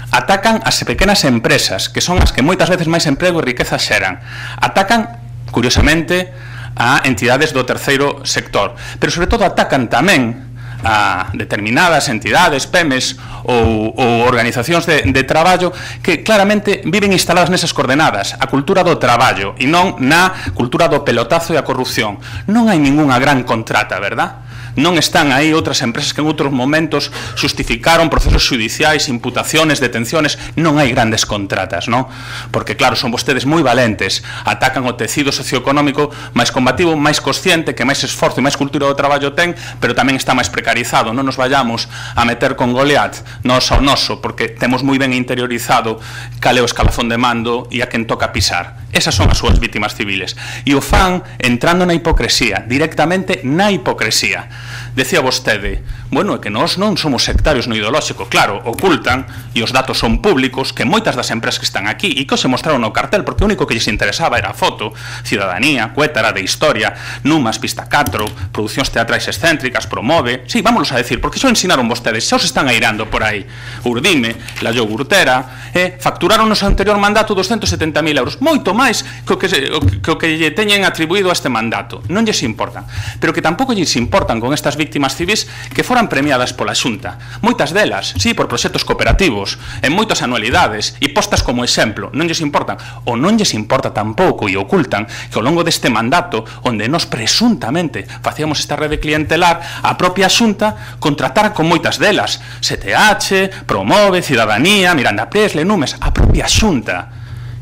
[SPEAKER 1] atacan as pequenas empresas, que son as que moitas veces máis emprego e riqueza xeran, atacan, curiosamente, a entidades do terceiro sector, pero sobre todo atacan tamén a determinadas entidades, PEMES ou organizacións de traballo que claramente viven instaladas nesas coordenadas, a cultura do traballo e non na cultura do pelotazo e a corrupción. Non hai ningunha gran contrata, verdad? Non están aí outras empresas que en outros momentos justificaron procesos judiciais, imputaciones, detenciones. Non hai grandes contratas, non? Porque, claro, son vostedes moi valentes, atacan o tecido socioeconómico máis combativo, máis consciente, que máis esforzo e máis cultura do traballo ten, pero tamén está máis precarizado. Non nos vayamos a meter con Goliat nos ao noso, porque temos moi ben interiorizado cal é o escalafón de mando e a quen toca pisar. Esas son as súas vítimas civiles. E o fan entrando na hipocresía, directamente na hipocresía. Decía vostede, bueno, é que nós non somos sectarios no ideolóxico. Claro, ocultan, e os datos son públicos, que moitas das empresas que están aquí e que os mostraron no cartel, porque o único que lles interesaba era a foto, Ciudadanía, Cuétara, de Historia, Numas, Pista 4, Producións Teatrais Excéntricas, Promove. Sí, vámonos a decir, porque xo ensinaron vostedes, xa os están airando por aí. Urdime, La Yogurtera, facturaron no seu anterior mandato 270.000 euros, moito máis que o que lle teñen atribuído a este mandato. Non lles importan, pero que tampouco lles importan con estas vítimas civis que foran premiadas pola Xunta. Moitas delas, sí, por proxectos cooperativos, en moitas anualidades e postas como exemplo. Non lles importan, ou non lles importa tampouco e ocultan que ao longo deste mandato, onde nós presuntamente facíamos esta rede clientelar, a propia Xunta contratara con moitas delas, STH, Promove, Ciudadanía, Miranda Presle, Numes, a propia Xunta,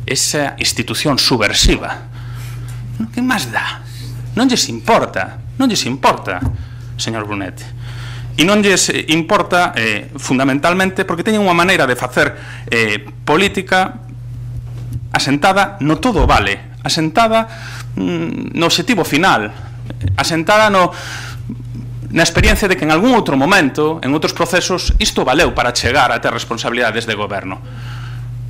[SPEAKER 1] esa institución subversiva. Que máis dá? Non lles importa, señor Brunet. E non lles importa fundamentalmente porque teñen unha maneira de facer política asentada no todo vale, asentada no obxectivo final, asentada na experiencia de que en algún outro momento, en outros procesos, isto valeu para chegar a ter responsabilidades de goberno.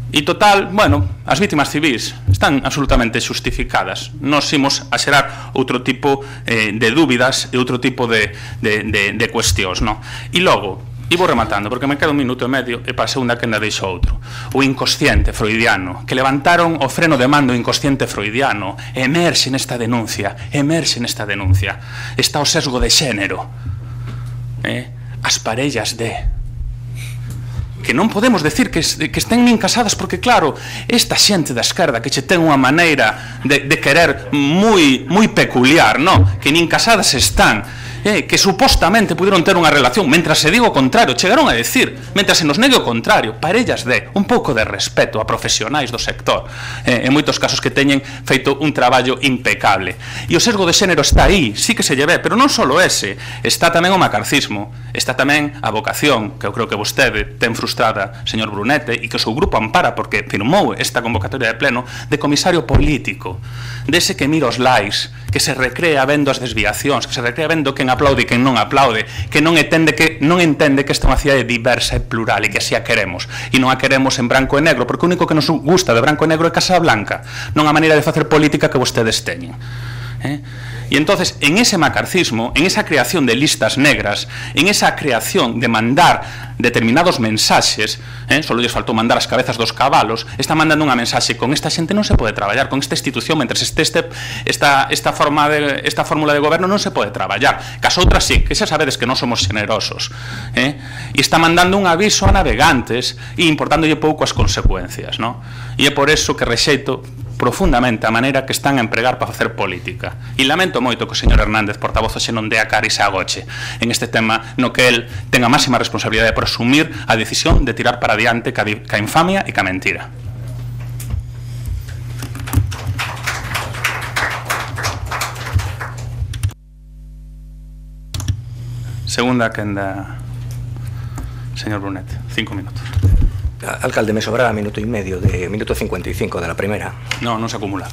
[SPEAKER 1] E total, bueno, as vítimas civis están absolutamente xustificadas. Nos imos a xerar outro tipo de dúbidas e outro tipo de cuestións, non? E logo, e vou rematando, porque me queda 1 minuto e medio e para a segunda que ainda deixo outro. O inconsciente freudiano, que levantaron o freno de mando inconsciente freudiano, emerxe nesta denuncia, está o sesgo de xénero, as parellas de... que non podemos decir que estén nin casadas, porque claro, esta xente da esquerda que che ten unha maneira de querer moi peculiar, non? Que nin casadas están, que supostamente pudieron ter unha relación, mentras se digo o contrario, chegaron a decir, mentras se nos negue o contrario, parellas de un pouco de respeto a profesionais do sector, en moitos casos que teñen feito un traballo impecable. E o sesgo de xénero está aí, sí que se lle ve, pero non só ese, está tamén o macarcismo, está tamén a vocación, que eu creo que vostede ten frustrada, señor Brunete, e que o seu grupo ampara porque firmou esta convocatoria de pleno, de comisario político, dese que mira os likes, que se recrea vendo as desviacións, que se recrea vendo quen aplaude e quen non aplaude, que non entende que esta é unha cidade diversa e plural e que así a queremos, e non a queremos en branco e negro, porque o único que nos gusta de branco e negro é Casablanca, non a maneira de facer política que vostedes teñen. E entonces, en ese macarcismo, en esa creación de listas negras, en esa creación de mandar determinados mensaxes, só lles faltou mandar as cabezas dos cabalos, está mandando unha mensaxe: con esta xente non se pode traballar, con esta institución, mentre esta fórmula de goberno non se pode traballar. Cas outras sí, que xa sabedes que non somos generosos. E está mandando un aviso a navegantes e importándolle pouco as consecuencias, non? E é por eso que rexeito profundamente a maneira que están a empregar para facer política. E lamento moito que o señor Hernández, portavoz, xe non dé a cara e se agoche en este tema no que el ten a máxima responsabilidade por asumir a decisión de tirar para adiante ca infamia e ca mentira. Segunda quenda, señor Brunet, 5 minutos.
[SPEAKER 3] Alcalde, me sobraba minuto y medio, de minuto 55 de la primera.
[SPEAKER 1] No, non se acumula.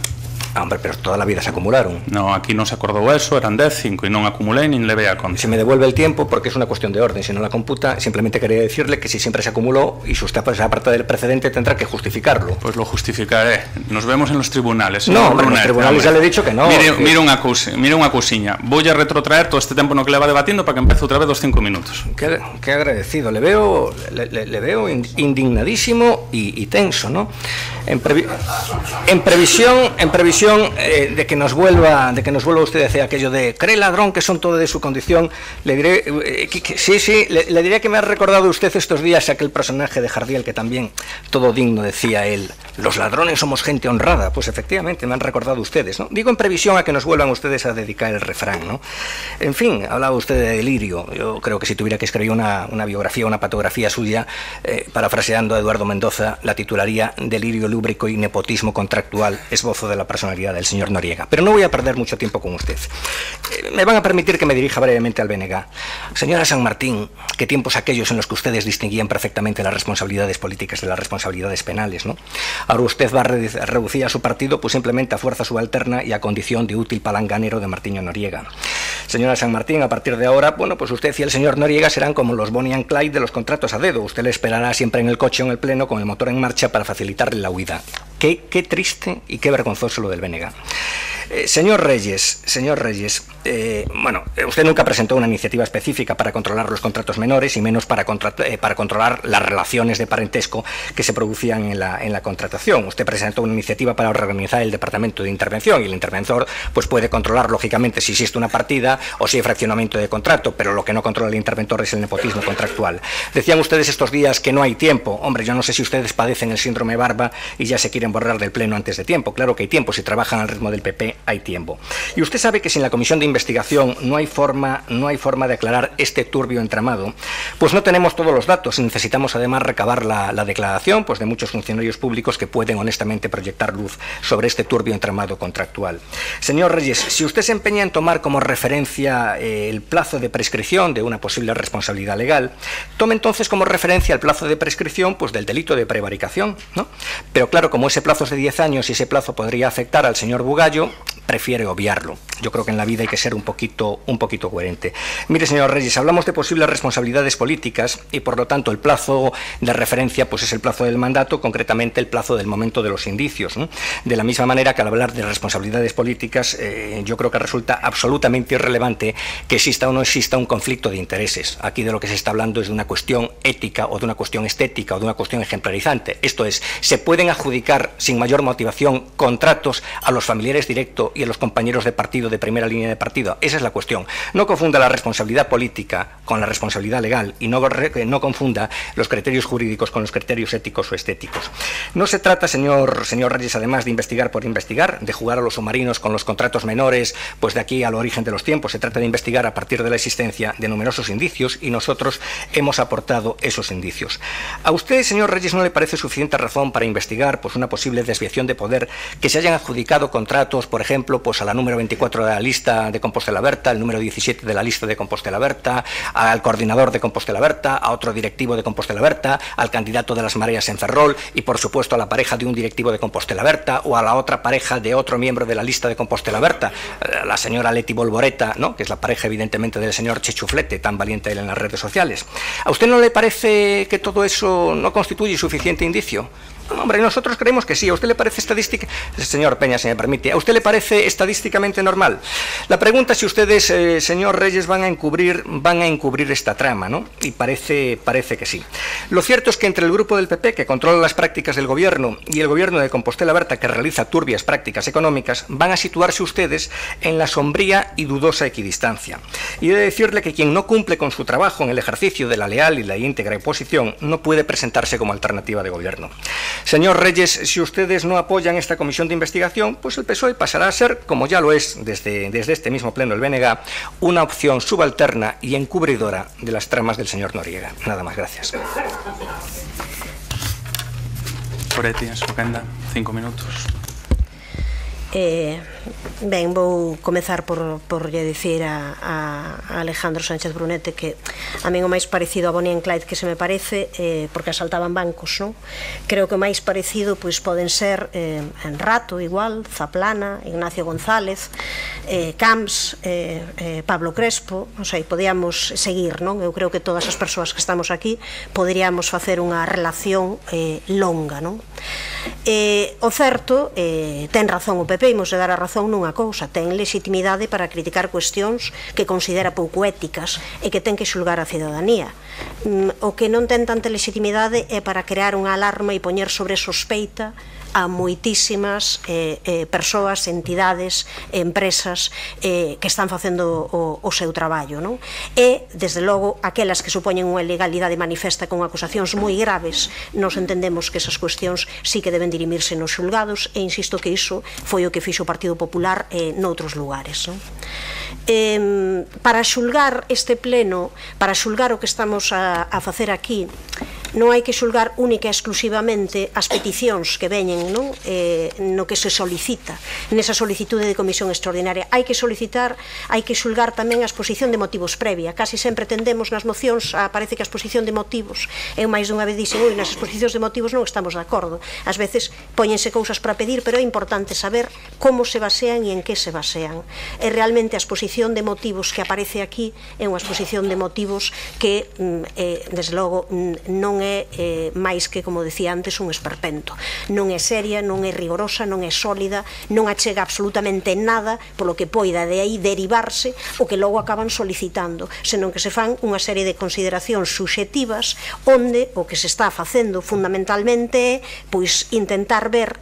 [SPEAKER 3] Ah, hombre, pero toda la vida se acumularon.
[SPEAKER 1] No, aquí non se acordou eso, eran 10, 5 e non acumulei nin levei a conta.
[SPEAKER 3] Se me devuelve el tiempo, porque es una cuestión de orden, si no la computa, simplemente quería decirle que si siempre se acumuló y si usted aparte del precedente tendrá que justificarlo.
[SPEAKER 1] Pues lo justificaré. Nos vemos en los tribunales.
[SPEAKER 3] No, hombre, en los tribunales ya le he dicho que no.
[SPEAKER 1] Mire unha cousiña. Voy a retrotraer todo este tempo no que leva debatindo para que empece outra vez dos 5 minutos.
[SPEAKER 3] Qué agradecido. Le veo indignadísimo y tenso, ¿no? En previsión previsión de que nos vuelva usted a decir aquello de cree ladrón que son todo de su condición, le diré le diré que me ha recordado usted estos días aquel personaje de Jardiel que también, todo digno, decía él, los ladrones somos gente honrada. Pues efectivamente me han recordado ustedes, ¿no? Digo en previsión a que nos vuelvan ustedes a dedicar el refrán, ¿no? En fin, hablaba usted de delirio. Yo creo que si tuviera que escribir una biografía, una patografía suya, parafraseando a Eduardo Mendoza, la titularía Delirio lúbrico y nepotismo contractual, esbozo de la personalidad del señor Noriega. Pero no voy a perder mucho tiempo con usted. Me van a permitir que me dirija brevemente al BNG. Señora San Martín, ¿qué tiempos aquellos en los que ustedes distinguían perfectamente las responsabilidades políticas de las responsabilidades penales, ¿no? Ahora usted va a reducir a su partido pues simplemente a fuerza subalterna y a condición de útil palanganero de Martiño Noriega. Señora San Martín, a partir de ahora, bueno, pues usted y el señor Noriega serán como los Bonnie and Clyde de los contratos a dedo. Usted le esperará siempre en el coche o en el pleno con el motor en marcha para facilitarle la huida. Qué triste y qué vergonzoso lo del BNG. Señor Reyes, bueno, usted nunca presentó una iniciativa específica para controlar los contratos menores y menos para controlar las relaciones de parentesco que se producían en la contratación. Usted presentó una iniciativa para organizar el departamento de intervención y el interventor pues puede controlar lógicamente si existe una partida o si hay fraccionamiento de contrato, pero lo que no controla el interventor es el nepotismo contractual. Decían ustedes estos días que no hay tiempo. Hombre, yo no sé si ustedes padecen el síndrome Barba y ya se quieren borrar del pleno antes de tiempo. Claro que hay tiempo, si trabajan al ritmo del PP hay tiempo. Y usted sabe que sin la comisión de investigación no hay forma de aclarar este turbio entramado, pues no tenemos todos los datos y necesitamos además recabar la declaración pues de muchos funcionarios públicos que pueden honestamente proyectar luz sobre este turbio entramado contractual. Señor Reyes, si usted se empeña en tomar como referencia el plazo de prescripción de una posible responsabilidad legal, tome entonces como referencia el plazo de prescripción pues del delito de prevaricación, ¿no? Pero claro, como ese plazo es de 10 años y ese plazo podría afectar al señor Bugallo, prefiere obviarlo. Yo creo que en la vida hay que ser un poquito coherente. Mire, señor Reyes, hablamos de posibles responsabilidades políticas y por lo tanto el plazo de referencia pues es el plazo del mandato, concretamente el plazo del momento de los indicios, ¿no? De la misma manera que al hablar de responsabilidades políticas yo creo que resulta absolutamente irrelevante que exista o no exista un conflicto de intereses. Aquí de lo que se está hablando es de una cuestión ética o de una cuestión estética o de una cuestión ejemplarizante. Esto es, se pueden adjudicar sin mayor motivación contratos a los familiares directos y a los compañeros de partido de primera línea de partido. Esa es la cuestión. No confunda la responsabilidad política con la responsabilidad legal y no confunda los criterios jurídicos con los criterios éticos o estéticos. No se trata, señor Reyes, además de investigar por investigar, de jugar a los submarinos con los contratos menores, pues de aquí al origen de los tiempos. Se trata de investigar a partir de la existencia de numerosos indicios y nosotros hemos aportado esos indicios. ¿A usted, señor Reyes, no le parece suficiente razón para investigar pues una posible desviación de poder que se hayan adjudicado contratos, por ejemplo, pues a la número 24 de la lista de Compostela Berta, el número 17 de la lista de Compostela Berta, al coordinador de Compostela Berta, a otro directivo de Compostela Berta, al candidato de las Mareas en Ferrol y, por supuesto, a la pareja de un directivo de Compostela Berta o a la otra pareja de otro miembro de la lista de Compostela Berta, la señora Leti Bolboreta, ¿no?, que es la pareja, evidentemente, del señor Chechuflete, tan valiente él en las redes sociales. ¿A usted no le parece que todo eso no constituye suficiente indicio? Hombre, nosotros creemos que sí. ¿A usted le parece estadística? Señor Peña, si me permite, ¿a usted le parece estadísticamente normal? La pregunta es si ustedes, señor Reyes, van a encubrir esta trama, ¿no? Y parece que sí. Lo cierto es que entre el grupo del PP, que controla las prácticas del gobierno, y el gobierno de Compostela Berta, que realiza turbias prácticas económicas, van a situarse ustedes en la sombría y dudosa equidistancia. Y he de decirle que quien no cumple con su trabajo en el ejercicio de la leal y la íntegra oposición no puede presentarse como alternativa de gobierno. Señor Reyes, si ustedes no apoyan esta comisión de investigación, pues el PSOE pasará a ser, como ya lo es desde este mismo pleno del BNG, una opción subalterna y encubridora de las tramas del señor Noriega. Nada más, gracias.
[SPEAKER 1] Poretti, en súa quenda, 5 minutos.
[SPEAKER 4] Ben, vou comezar por lle dicir a Alejandro Sánchez Brunete que a min o máis parecido a Bonnie and Clyde que se me parece, porque asaltaban bancos, non? Creo que o máis parecido pois poden ser en Rato, igual, Zaplana, Ignacio González, Camps, Pablo Crespo, non sei, podíamos seguir, non? Eu creo que todas as persoas que estamos aquí poderíamos facer unha relación longa, non? O certo, ten razón o PP, imos de dar a razón nunha cousa, ten legitimidade para criticar cuestións que considera pouco éticas e que ten que xulgar a cidadanía. O que non ten tanta legitimidade é para crear unha alarma e poñer sobre sospeita a moitísimas persoas, entidades, empresas que están facendo o seu traballo, non? E, desde logo, aquelas que supoñen unha ilegalidade manifesta con acusacións moi graves, nos entendemos que esas cuestións sí que deben dirimirse nos xulgados, e insisto que iso foi o que fixo o Partido Popular noutros lugares, non? Para xulgar este pleno, para xulgar o que estamos a facer aquí, non hai que xulgar única e exclusivamente as peticións que veñen, non? No que se solicita nesa solicitude de comisión extraordinaria. Hai que xulgar tamén a exposición de motivos previa. Casi sempre tendemos nas mocións, parece que a exposición de motivos, eu máis dunha vez dixen, nas exposicións de motivos non estamos de acordo. Ás veces póñense cousas para pedir, pero é importante saber como se basean e en que se basean. E realmente a exposición de motivos que aparece aquí é unha exposición de motivos que, desde logo, non é máis que, como decía antes, un esperpento. Non é seria, non é rigorosa, non é sólida, non achega absolutamente nada polo que poida de aí derivarse o que logo acaban solicitando, senón que se fan unha serie de consideracións subxectivas onde o que se está facendo fundamentalmente é pois intentar ver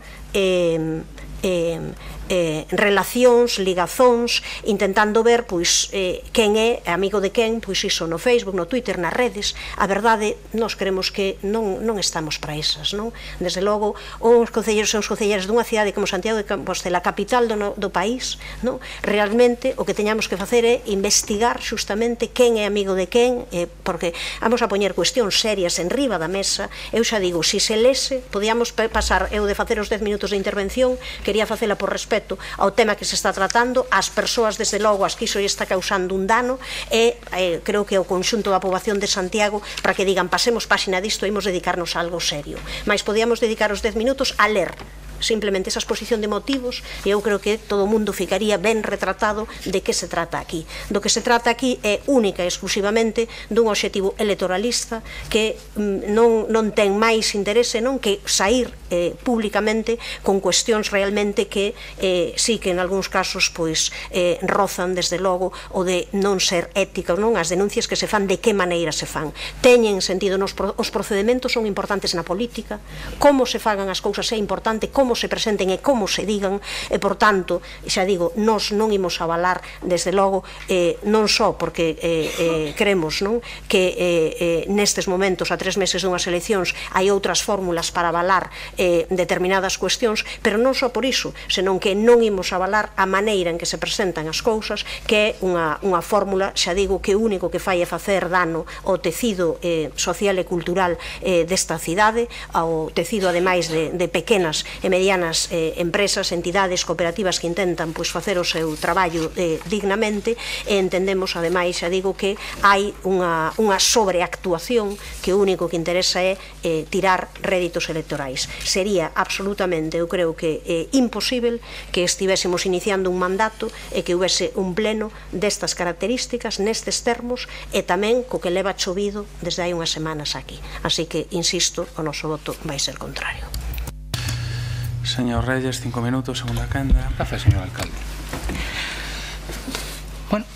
[SPEAKER 4] relacións, ligazóns, intentando ver pois quen é amigo de quen, pois iso no Facebook, no Twitter, nas redes. A verdade, nós creemos que non estamos para esas, non? Desde logo, os concelleiros e os concelleiras dunha cidade como Santiago de Compostela, capital do país, non? Realmente o que teñamos que facer é investigar xustamente quen é amigo de quen, porque vamos a poñer cuestións serias en riba da mesa. Eu xa digo, se se lese, podíamos pasar, eu de facer os 10 minutos de intervención, quería facela por respeto ao tema que se está tratando, ás persoas, desde logo, as que iso está causando un dano, e creo que o conxunto da poboación de Santiago, para que digan, pasemos páxina disto, imos dedicarnos a algo serio. Mais podíamos dedicar os 10 minutos a ler simplemente esa exposición de motivos, e eu creo que todo o mundo ficaría ben retratado de que se trata aquí. Do que se trata aquí é única e exclusivamente dun obxectivo electoralista que non ten máis interese non que sair públicamente con cuestións realmente que sí que en algúns casos pois rozan desde logo o de non ser ética, non? As denuncias que se fan, de que maneira se fan. Teñen sentido, os procedementos son importantes na política, como se fagan as cousas é importante, como se presenten e como se digan, e por tanto, xa digo, nós non imos avalar desde logo, non só porque creemos que nestes momentos, a 3 meses dunhas eleccións, hai outras fórmulas para avalar determinadas cuestións, pero non só por iso, senón que non imos avalar a maneira en que se presentan as cousas, que é unha fórmula, xa digo, que o único que fai é facer dano ao tecido social e cultural desta cidade, ao tecido ademais de pequenas e medianas empresas, entidades, cooperativas que intentan facer o seu traballo dignamente, e entendemos ademais, xa digo, que hai unha sobreactuación que o único que interesa é tirar réditos electorais. Sería absolutamente, eu creo que imposible que estivésemos iniciando un mandato e que houvese un pleno destas características, nestes termos, e tamén co que leva chovido desde hai unhas semanas aquí. Así que, insisto, o noso voto vai ser contrario.
[SPEAKER 1] Señor Reyes, 5 minutos, segunda quenda.
[SPEAKER 5] Gracias, señor alcalde. Bueno,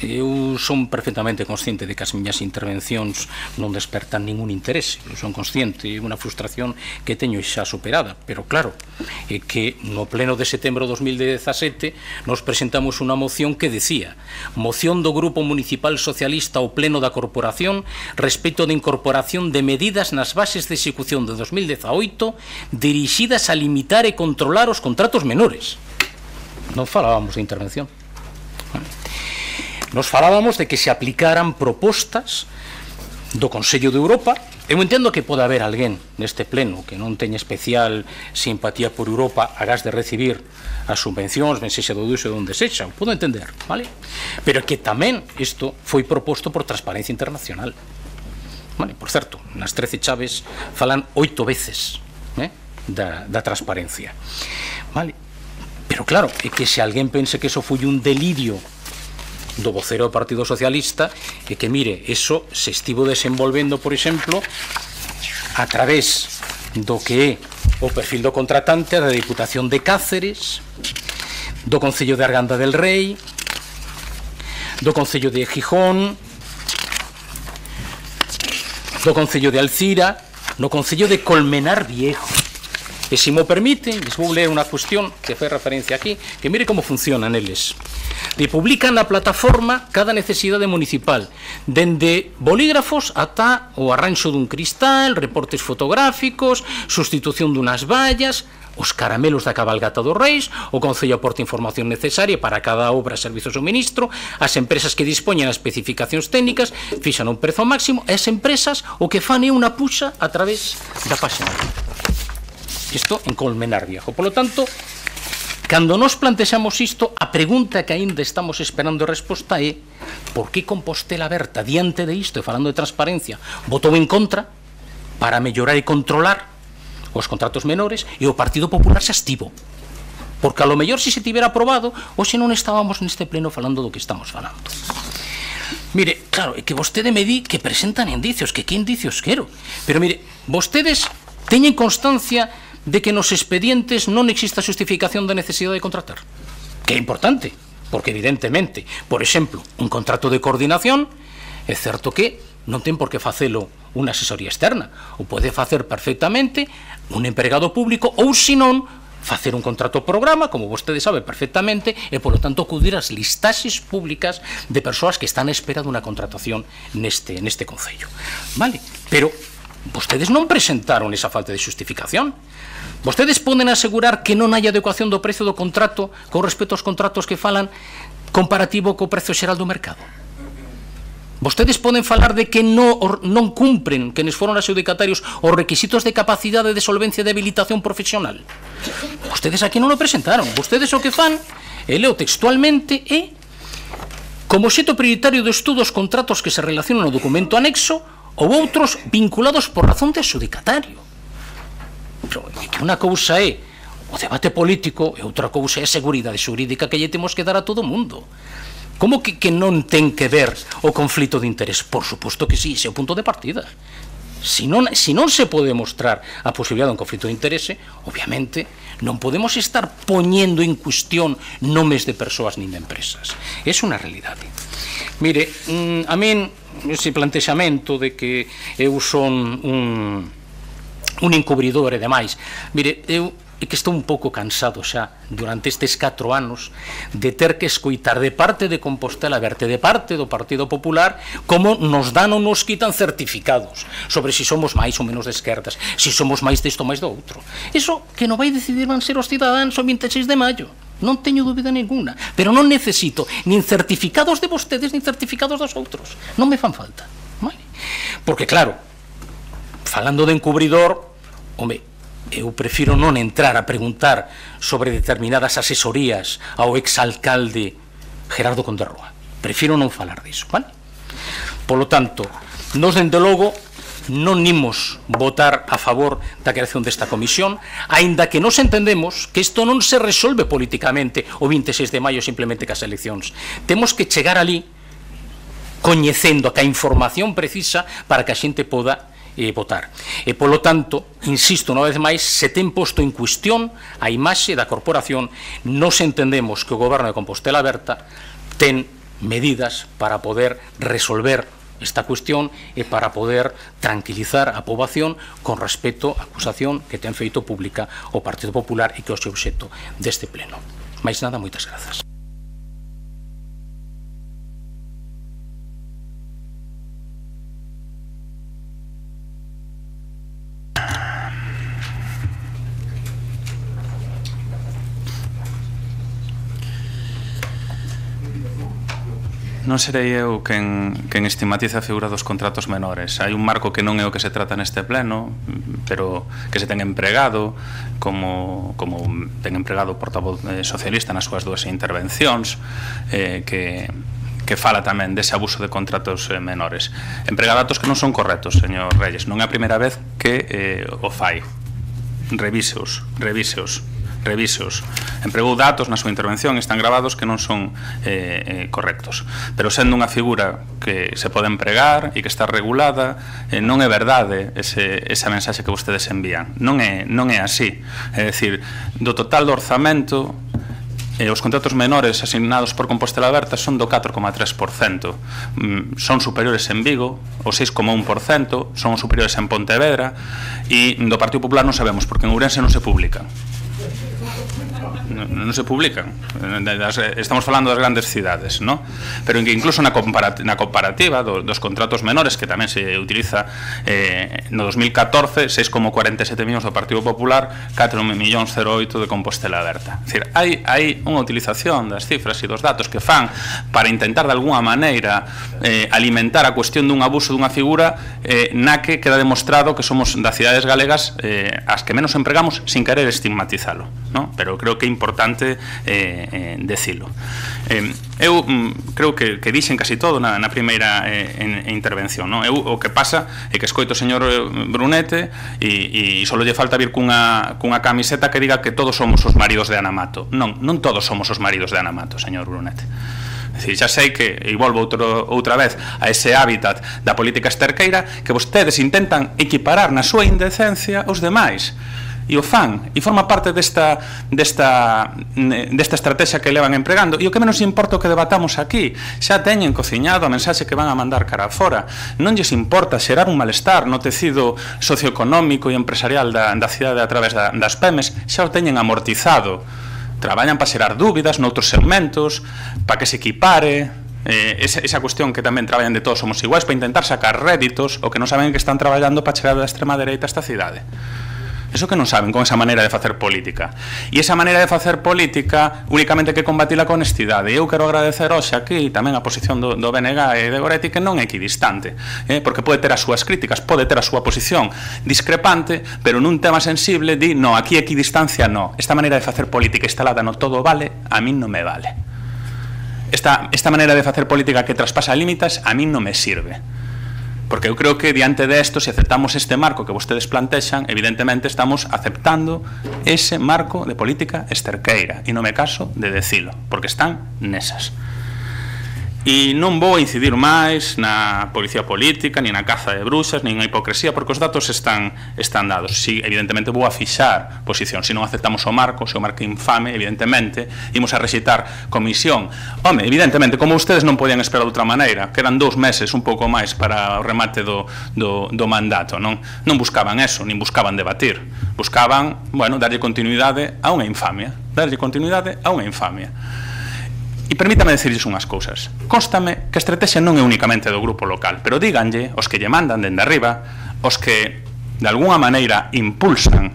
[SPEAKER 5] eu son perfectamente consciente de que as miñas intervencións non despertan ningún interese. Eu son consciente, é unha frustración que teño xa superada, pero claro, é que no pleno de setembro de 2017 nos presentamos unha moción que decía: moción do Grupo Municipal Socialista ao pleno da Corporación respecto de incorporación de medidas nas bases de execución de 2018 dirixidas a limitar e controlar os contratos menores. Non falábamos de intervención. Nos falábamos de que se aplicaran propostas do Consello de Europa. Eu entendo que pode haber alguén neste pleno que non teña especial simpatía por Europa agás de recibir as subvencións, ben sexa do uso de onde sexa, podo entender, vale? Pero que tamén isto foi proposto por Transparencia Internacional. Vale, por certo, nas 13 chaves falan 8 veces da transparencia. Vale? Pero claro, é que se alguén pense que iso foi un delirio do vocero do Partido Socialista, e que, mire, eso se estivo desenvolvendo, por exemplo, a través do que é o perfil do contratante da Diputación de Cáceres, do Concello de Arganda del Rei, do Concello de Gijón, do Concello de Alcira, no Concello de Colmenar Viejo. E se mo permiten, les vou ler unha cuestión que fai referencia aquí, que mire como funcionan eles. Publican na plataforma cada necesidade municipal, dende bolígrafos ata o arranxo dun cristal, reportes fotográficos, sustitución dunhas vallas, os caramelos da cabalgata dos Reis, o Concello aporta información necesaria para cada obra, servizo ou suministro, as empresas que dispoñen as especificacións técnicas fixan un prezo máximo, e as empresas o que fan é unha puxa a través da página. Isto en Colmenar Viejo. Por lo tanto, cando nos plantexamos isto, a pregunta que aínda estamos esperando resposta é por que Compostela Aberta, diante de isto, e falando de transparencia, votou en contra para mellorar e controlar os contratos menores, e o Partido Popular se estivo. Porque a lo mellor se tivera aprobado, hoxe non estábamos neste pleno falando do que estamos falando. Mire, claro, é que vostede me di que presentan indicios, que indicios quero. Pero mire, vostedes teñen constancia de que nos expedientes non exista xustificación da necesidade de contratar. Que é importante, porque evidentemente, por exemplo, un contrato de coordinación, é certo que non ten por que facelo unha asesoría externa, ou pode facer perfectamente un empregado público, ou senón facer un contrato programa, como vostede sabe perfectamente, e polo tanto acudir ás listaxes públicas de persoas que están a espera dunha contratación neste Concello. Vale, pero vostedes non presentaron esa falta de xustificación. Vostedes poden asegurar que non hai adecuación do prezo do contrato con respecto aos contratos que falan comparativo co prezo xeral do mercado. Vostedes poden falar de que non cumpren, que nos foron adxudicatarios, os requisitos de capacidade de solvencia e de habilitación profesional. Vostedes aquí non o presentaron. Vostedes o que fan, e leo textualmente, é como obxecto prioritario do estudo os contratos que se relacionan no documento anexo ou outros vinculados por razón de adxudicatario. Pero que unha cousa é o debate político e outra cousa é a seguridade xurídica que lle temos que dar a todo o mundo. Como que non ten que ver o conflito de interés? Por suposto que sí, ese é o punto de partida. Si non se pode mostrar a posibilidade de un conflito de interese, obviamente non podemos estar poñendo en cuestión nomes de persoas nin de empresas. É unha realidade. Mire, a min ese plantexamento de que eu son un encubridor e demais, mire, eu é que estou un pouco cansado xa durante estes 4 anos de ter que escoitar de parte de Compostela Aberta, de parte do Partido Popular, como nos dan ou nos quitan certificados sobre se somos máis ou menos de esquerdas, se somos máis disto ou máis do outro. Iso que non vai decidir van ser os cidadáns o 26 de maio, non teño dúbida ninguna, pero non necesito nin certificados de vostedes nin certificados dos outros, non me fan falta, vale? Porque claro, falando de encubridor, home, eu prefiro non entrar a preguntar sobre determinadas asesorías ao exalcalde Gerardo Conderroa. Prefiro non falar diso, vale? Polo tanto, nos dende logo non imos votar a favor da creación desta comisión, aínda que nos entendemos que isto non se resolve políticamente o 26 de maio simplemente cas eleccións. Temos que chegar ali coñecendo a información precisa para que a xente poda votar. E, polo tanto, insisto unha vez máis, se ten posto en cuestión a imaxe da corporación, nos entendemos que o Goberno de Compostela Aberta ten medidas para poder resolver esta cuestión e para poder tranquilizar a poboación con respecto á acusación que ten feito pública o Partido Popular e que é o seu obxecto deste pleno. Mais nada, moitas grazas.
[SPEAKER 1] Non serei eu quen estigmatiza a figura dos contratos menores. Hai un marco que non é o que se trata neste pleno, pero que se ten empregado, como ten empregado o portavoz socialista nas súas dúas intervencións, que fala tamén dese abuso de contratos menores. Emprega datos que non son correctos, señor Reyes. Non é a primeira vez que o fai. Revíseos. Empregou datos na súa intervención, están grabados que non son correctos, pero sendo unha figura que se pode empregar e que está regulada, non é verdade esa mensaxe que vostedes envían, non é así. É dicir, do total do orzamento os contratos menores asignados por Compostela Aberta son do 4,3%. Son superiores en Vigo, o 6,1%, son superiores en Pontevedra, e do Partido Popular non sabemos, porque en Ourense non se publican. Non se publican. Estamos falando das grandes cidades, ¿no? Pero incluso na comparativa dos contratos menores, que tamén se utiliza no 2014, 6,47 millóns do Partido Popular, 4,08 de Compostela Aberta. É dicir, hai unha utilización das cifras e dos datos que fan para intentar de alguna maneira alimentar a cuestión dun abuso dunha figura na que queda demostrado que somos das cidades galegas as que menos empregamos, sin querer estigmatizalo, ¿no? Pero creo que é importante decilo. Eu creo que dixen casi todo na primeira intervención, non? Eu o que pasa é que escoito o señor Brunete e só lle falta vir cunha camiseta que diga que todos somos os maridos de Ana Mato. Non todos somos os maridos de Ana Mato, señor Brunete. Xa sei que, e volvo outra vez a ese hábitat da política esterqueira, que vostedes intentan equiparar na súa indecencia os demais. E o fan, e forma parte desta estrategia que levan empregando. E o que menos importa o que debatamos aquí, xa teñen cociñado a mensaxe que van a mandar cara fora. Non lles importa xerar un malestar no tecido socioeconómico e empresarial da cidade a través das PEMES, xa o teñen amortizado. Traballan para xerar dúbidas noutros segmentos, para que se equipare esa cuestión que tamén traballan de todos somos iguais, para intentar sacar réditos, o que non saben que están traballando para chegar da extrema dereita a esta cidade. Eso que non saben con esa maneira de facer política. E esa maneira de facer política únicamente que combatila con honestidade. E eu quero agradecer hoxe aquí tamén a posición do BNG e de Goretti, que non é equidistante, porque pode ter as súas críticas, pode ter a súa posición discrepante, pero nun tema sensible di, no, aquí equidistancia no. Esta maneira de facer política instalada no todo vale, a min non me vale. Esta maneira de facer política que traspasa límites a min non me sirve. Porque eu creo que diante de isto, se aceptamos este marco que vostedes plantexan, evidentemente estamos aceptando ese marco de política esterqueira, e non me caso de decilo, porque están nesas. E non vou incidir máis na policía política, ni na caza de bruxas, ni na hipocresía, porque os datos están dados. Si, evidentemente, vou a fixar posición. Se non aceptamos o marco, se o marco infame, evidentemente, imos a rexeitar comisión. Home, evidentemente, como ustedes non podían esperar de outra maneira, quedan 2 meses, un pouco máis, para o remate do mandato, non buscaban eso, nin buscaban debatir. Buscaban, bueno, darlle continuidade a unha infamia. Darlle continuidade a unha infamia. E permítame decirles unhas cousas. Constame que a estrategia non é únicamente do grupo local, pero díganlle os que lle mandan dende arriba, os que de alguna maneira impulsan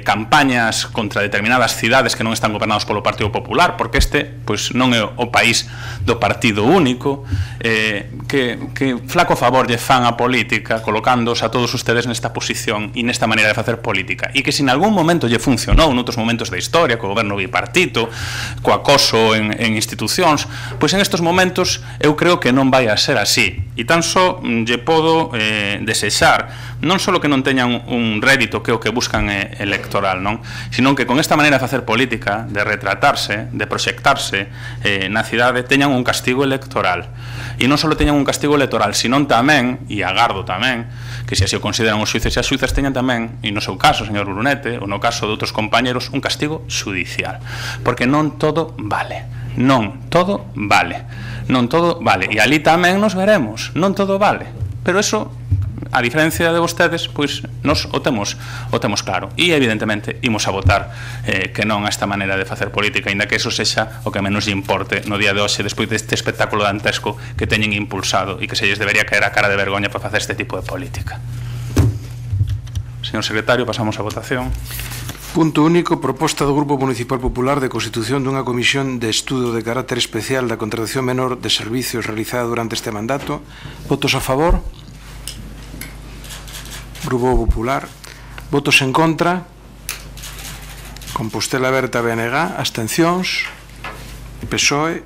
[SPEAKER 1] campañas contra determinadas cidades que non están gobernados polo Partido Popular, porque este pois non é o país do partido único, que flaco favor lle fan a política colocándoos a todos ustedes nesta posición e nesta maneira de facer política, e que se en algún momento lle funcionou noutros momentos da historia, co goberno bipartito, co acoso en institucións, pois en estes momentos eu creo que non vai a ser así, e tan só lle podo desexar non só que non teñan un rédito que é o que buscan electoral, non? Sino que con esta maneira de facer política, de retratarse, de proxectarse na cidade, teñan un castigo electoral. E non só teñan un castigo electoral, sino tamén, e agardo tamén, que se así o consideran os xuíces e as xuízas, teñan tamén, e no seu caso, señor Brunete, ou no caso de outros compañeros, un castigo xudicial. Porque non todo vale. Non todo vale. Non todo vale. E ali tamén nos veremos. Non todo vale. Pero eso, a diferencia de vostedes, pois nos o temos claro. E evidentemente imos a votar que non a esta maneira de facer política, ainda que eso sexa o que menos lle importe no día de hoxe, despois deste espectáculo dantesco que teñen impulsado e que se lles debería caer a cara de vergoña para facer este tipo de política. Señor secretario, pasamos a votación.
[SPEAKER 6] Punto único, proposta do Grupo Municipal Popular de constitución dunha comisión de estudo de carácter especial da contratación menor de servicios realizada durante este mandato. Votos a favor? Grupo Popular. Votos en contra? Compostela Aberta, BNG. Abstencións? PSOE.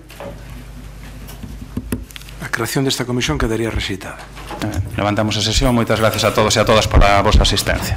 [SPEAKER 6] A creación desta comisión quedaría rexeitada.
[SPEAKER 1] Levantamos a sesión. Moitas gracias a todos e a todas pola vosa asistencia.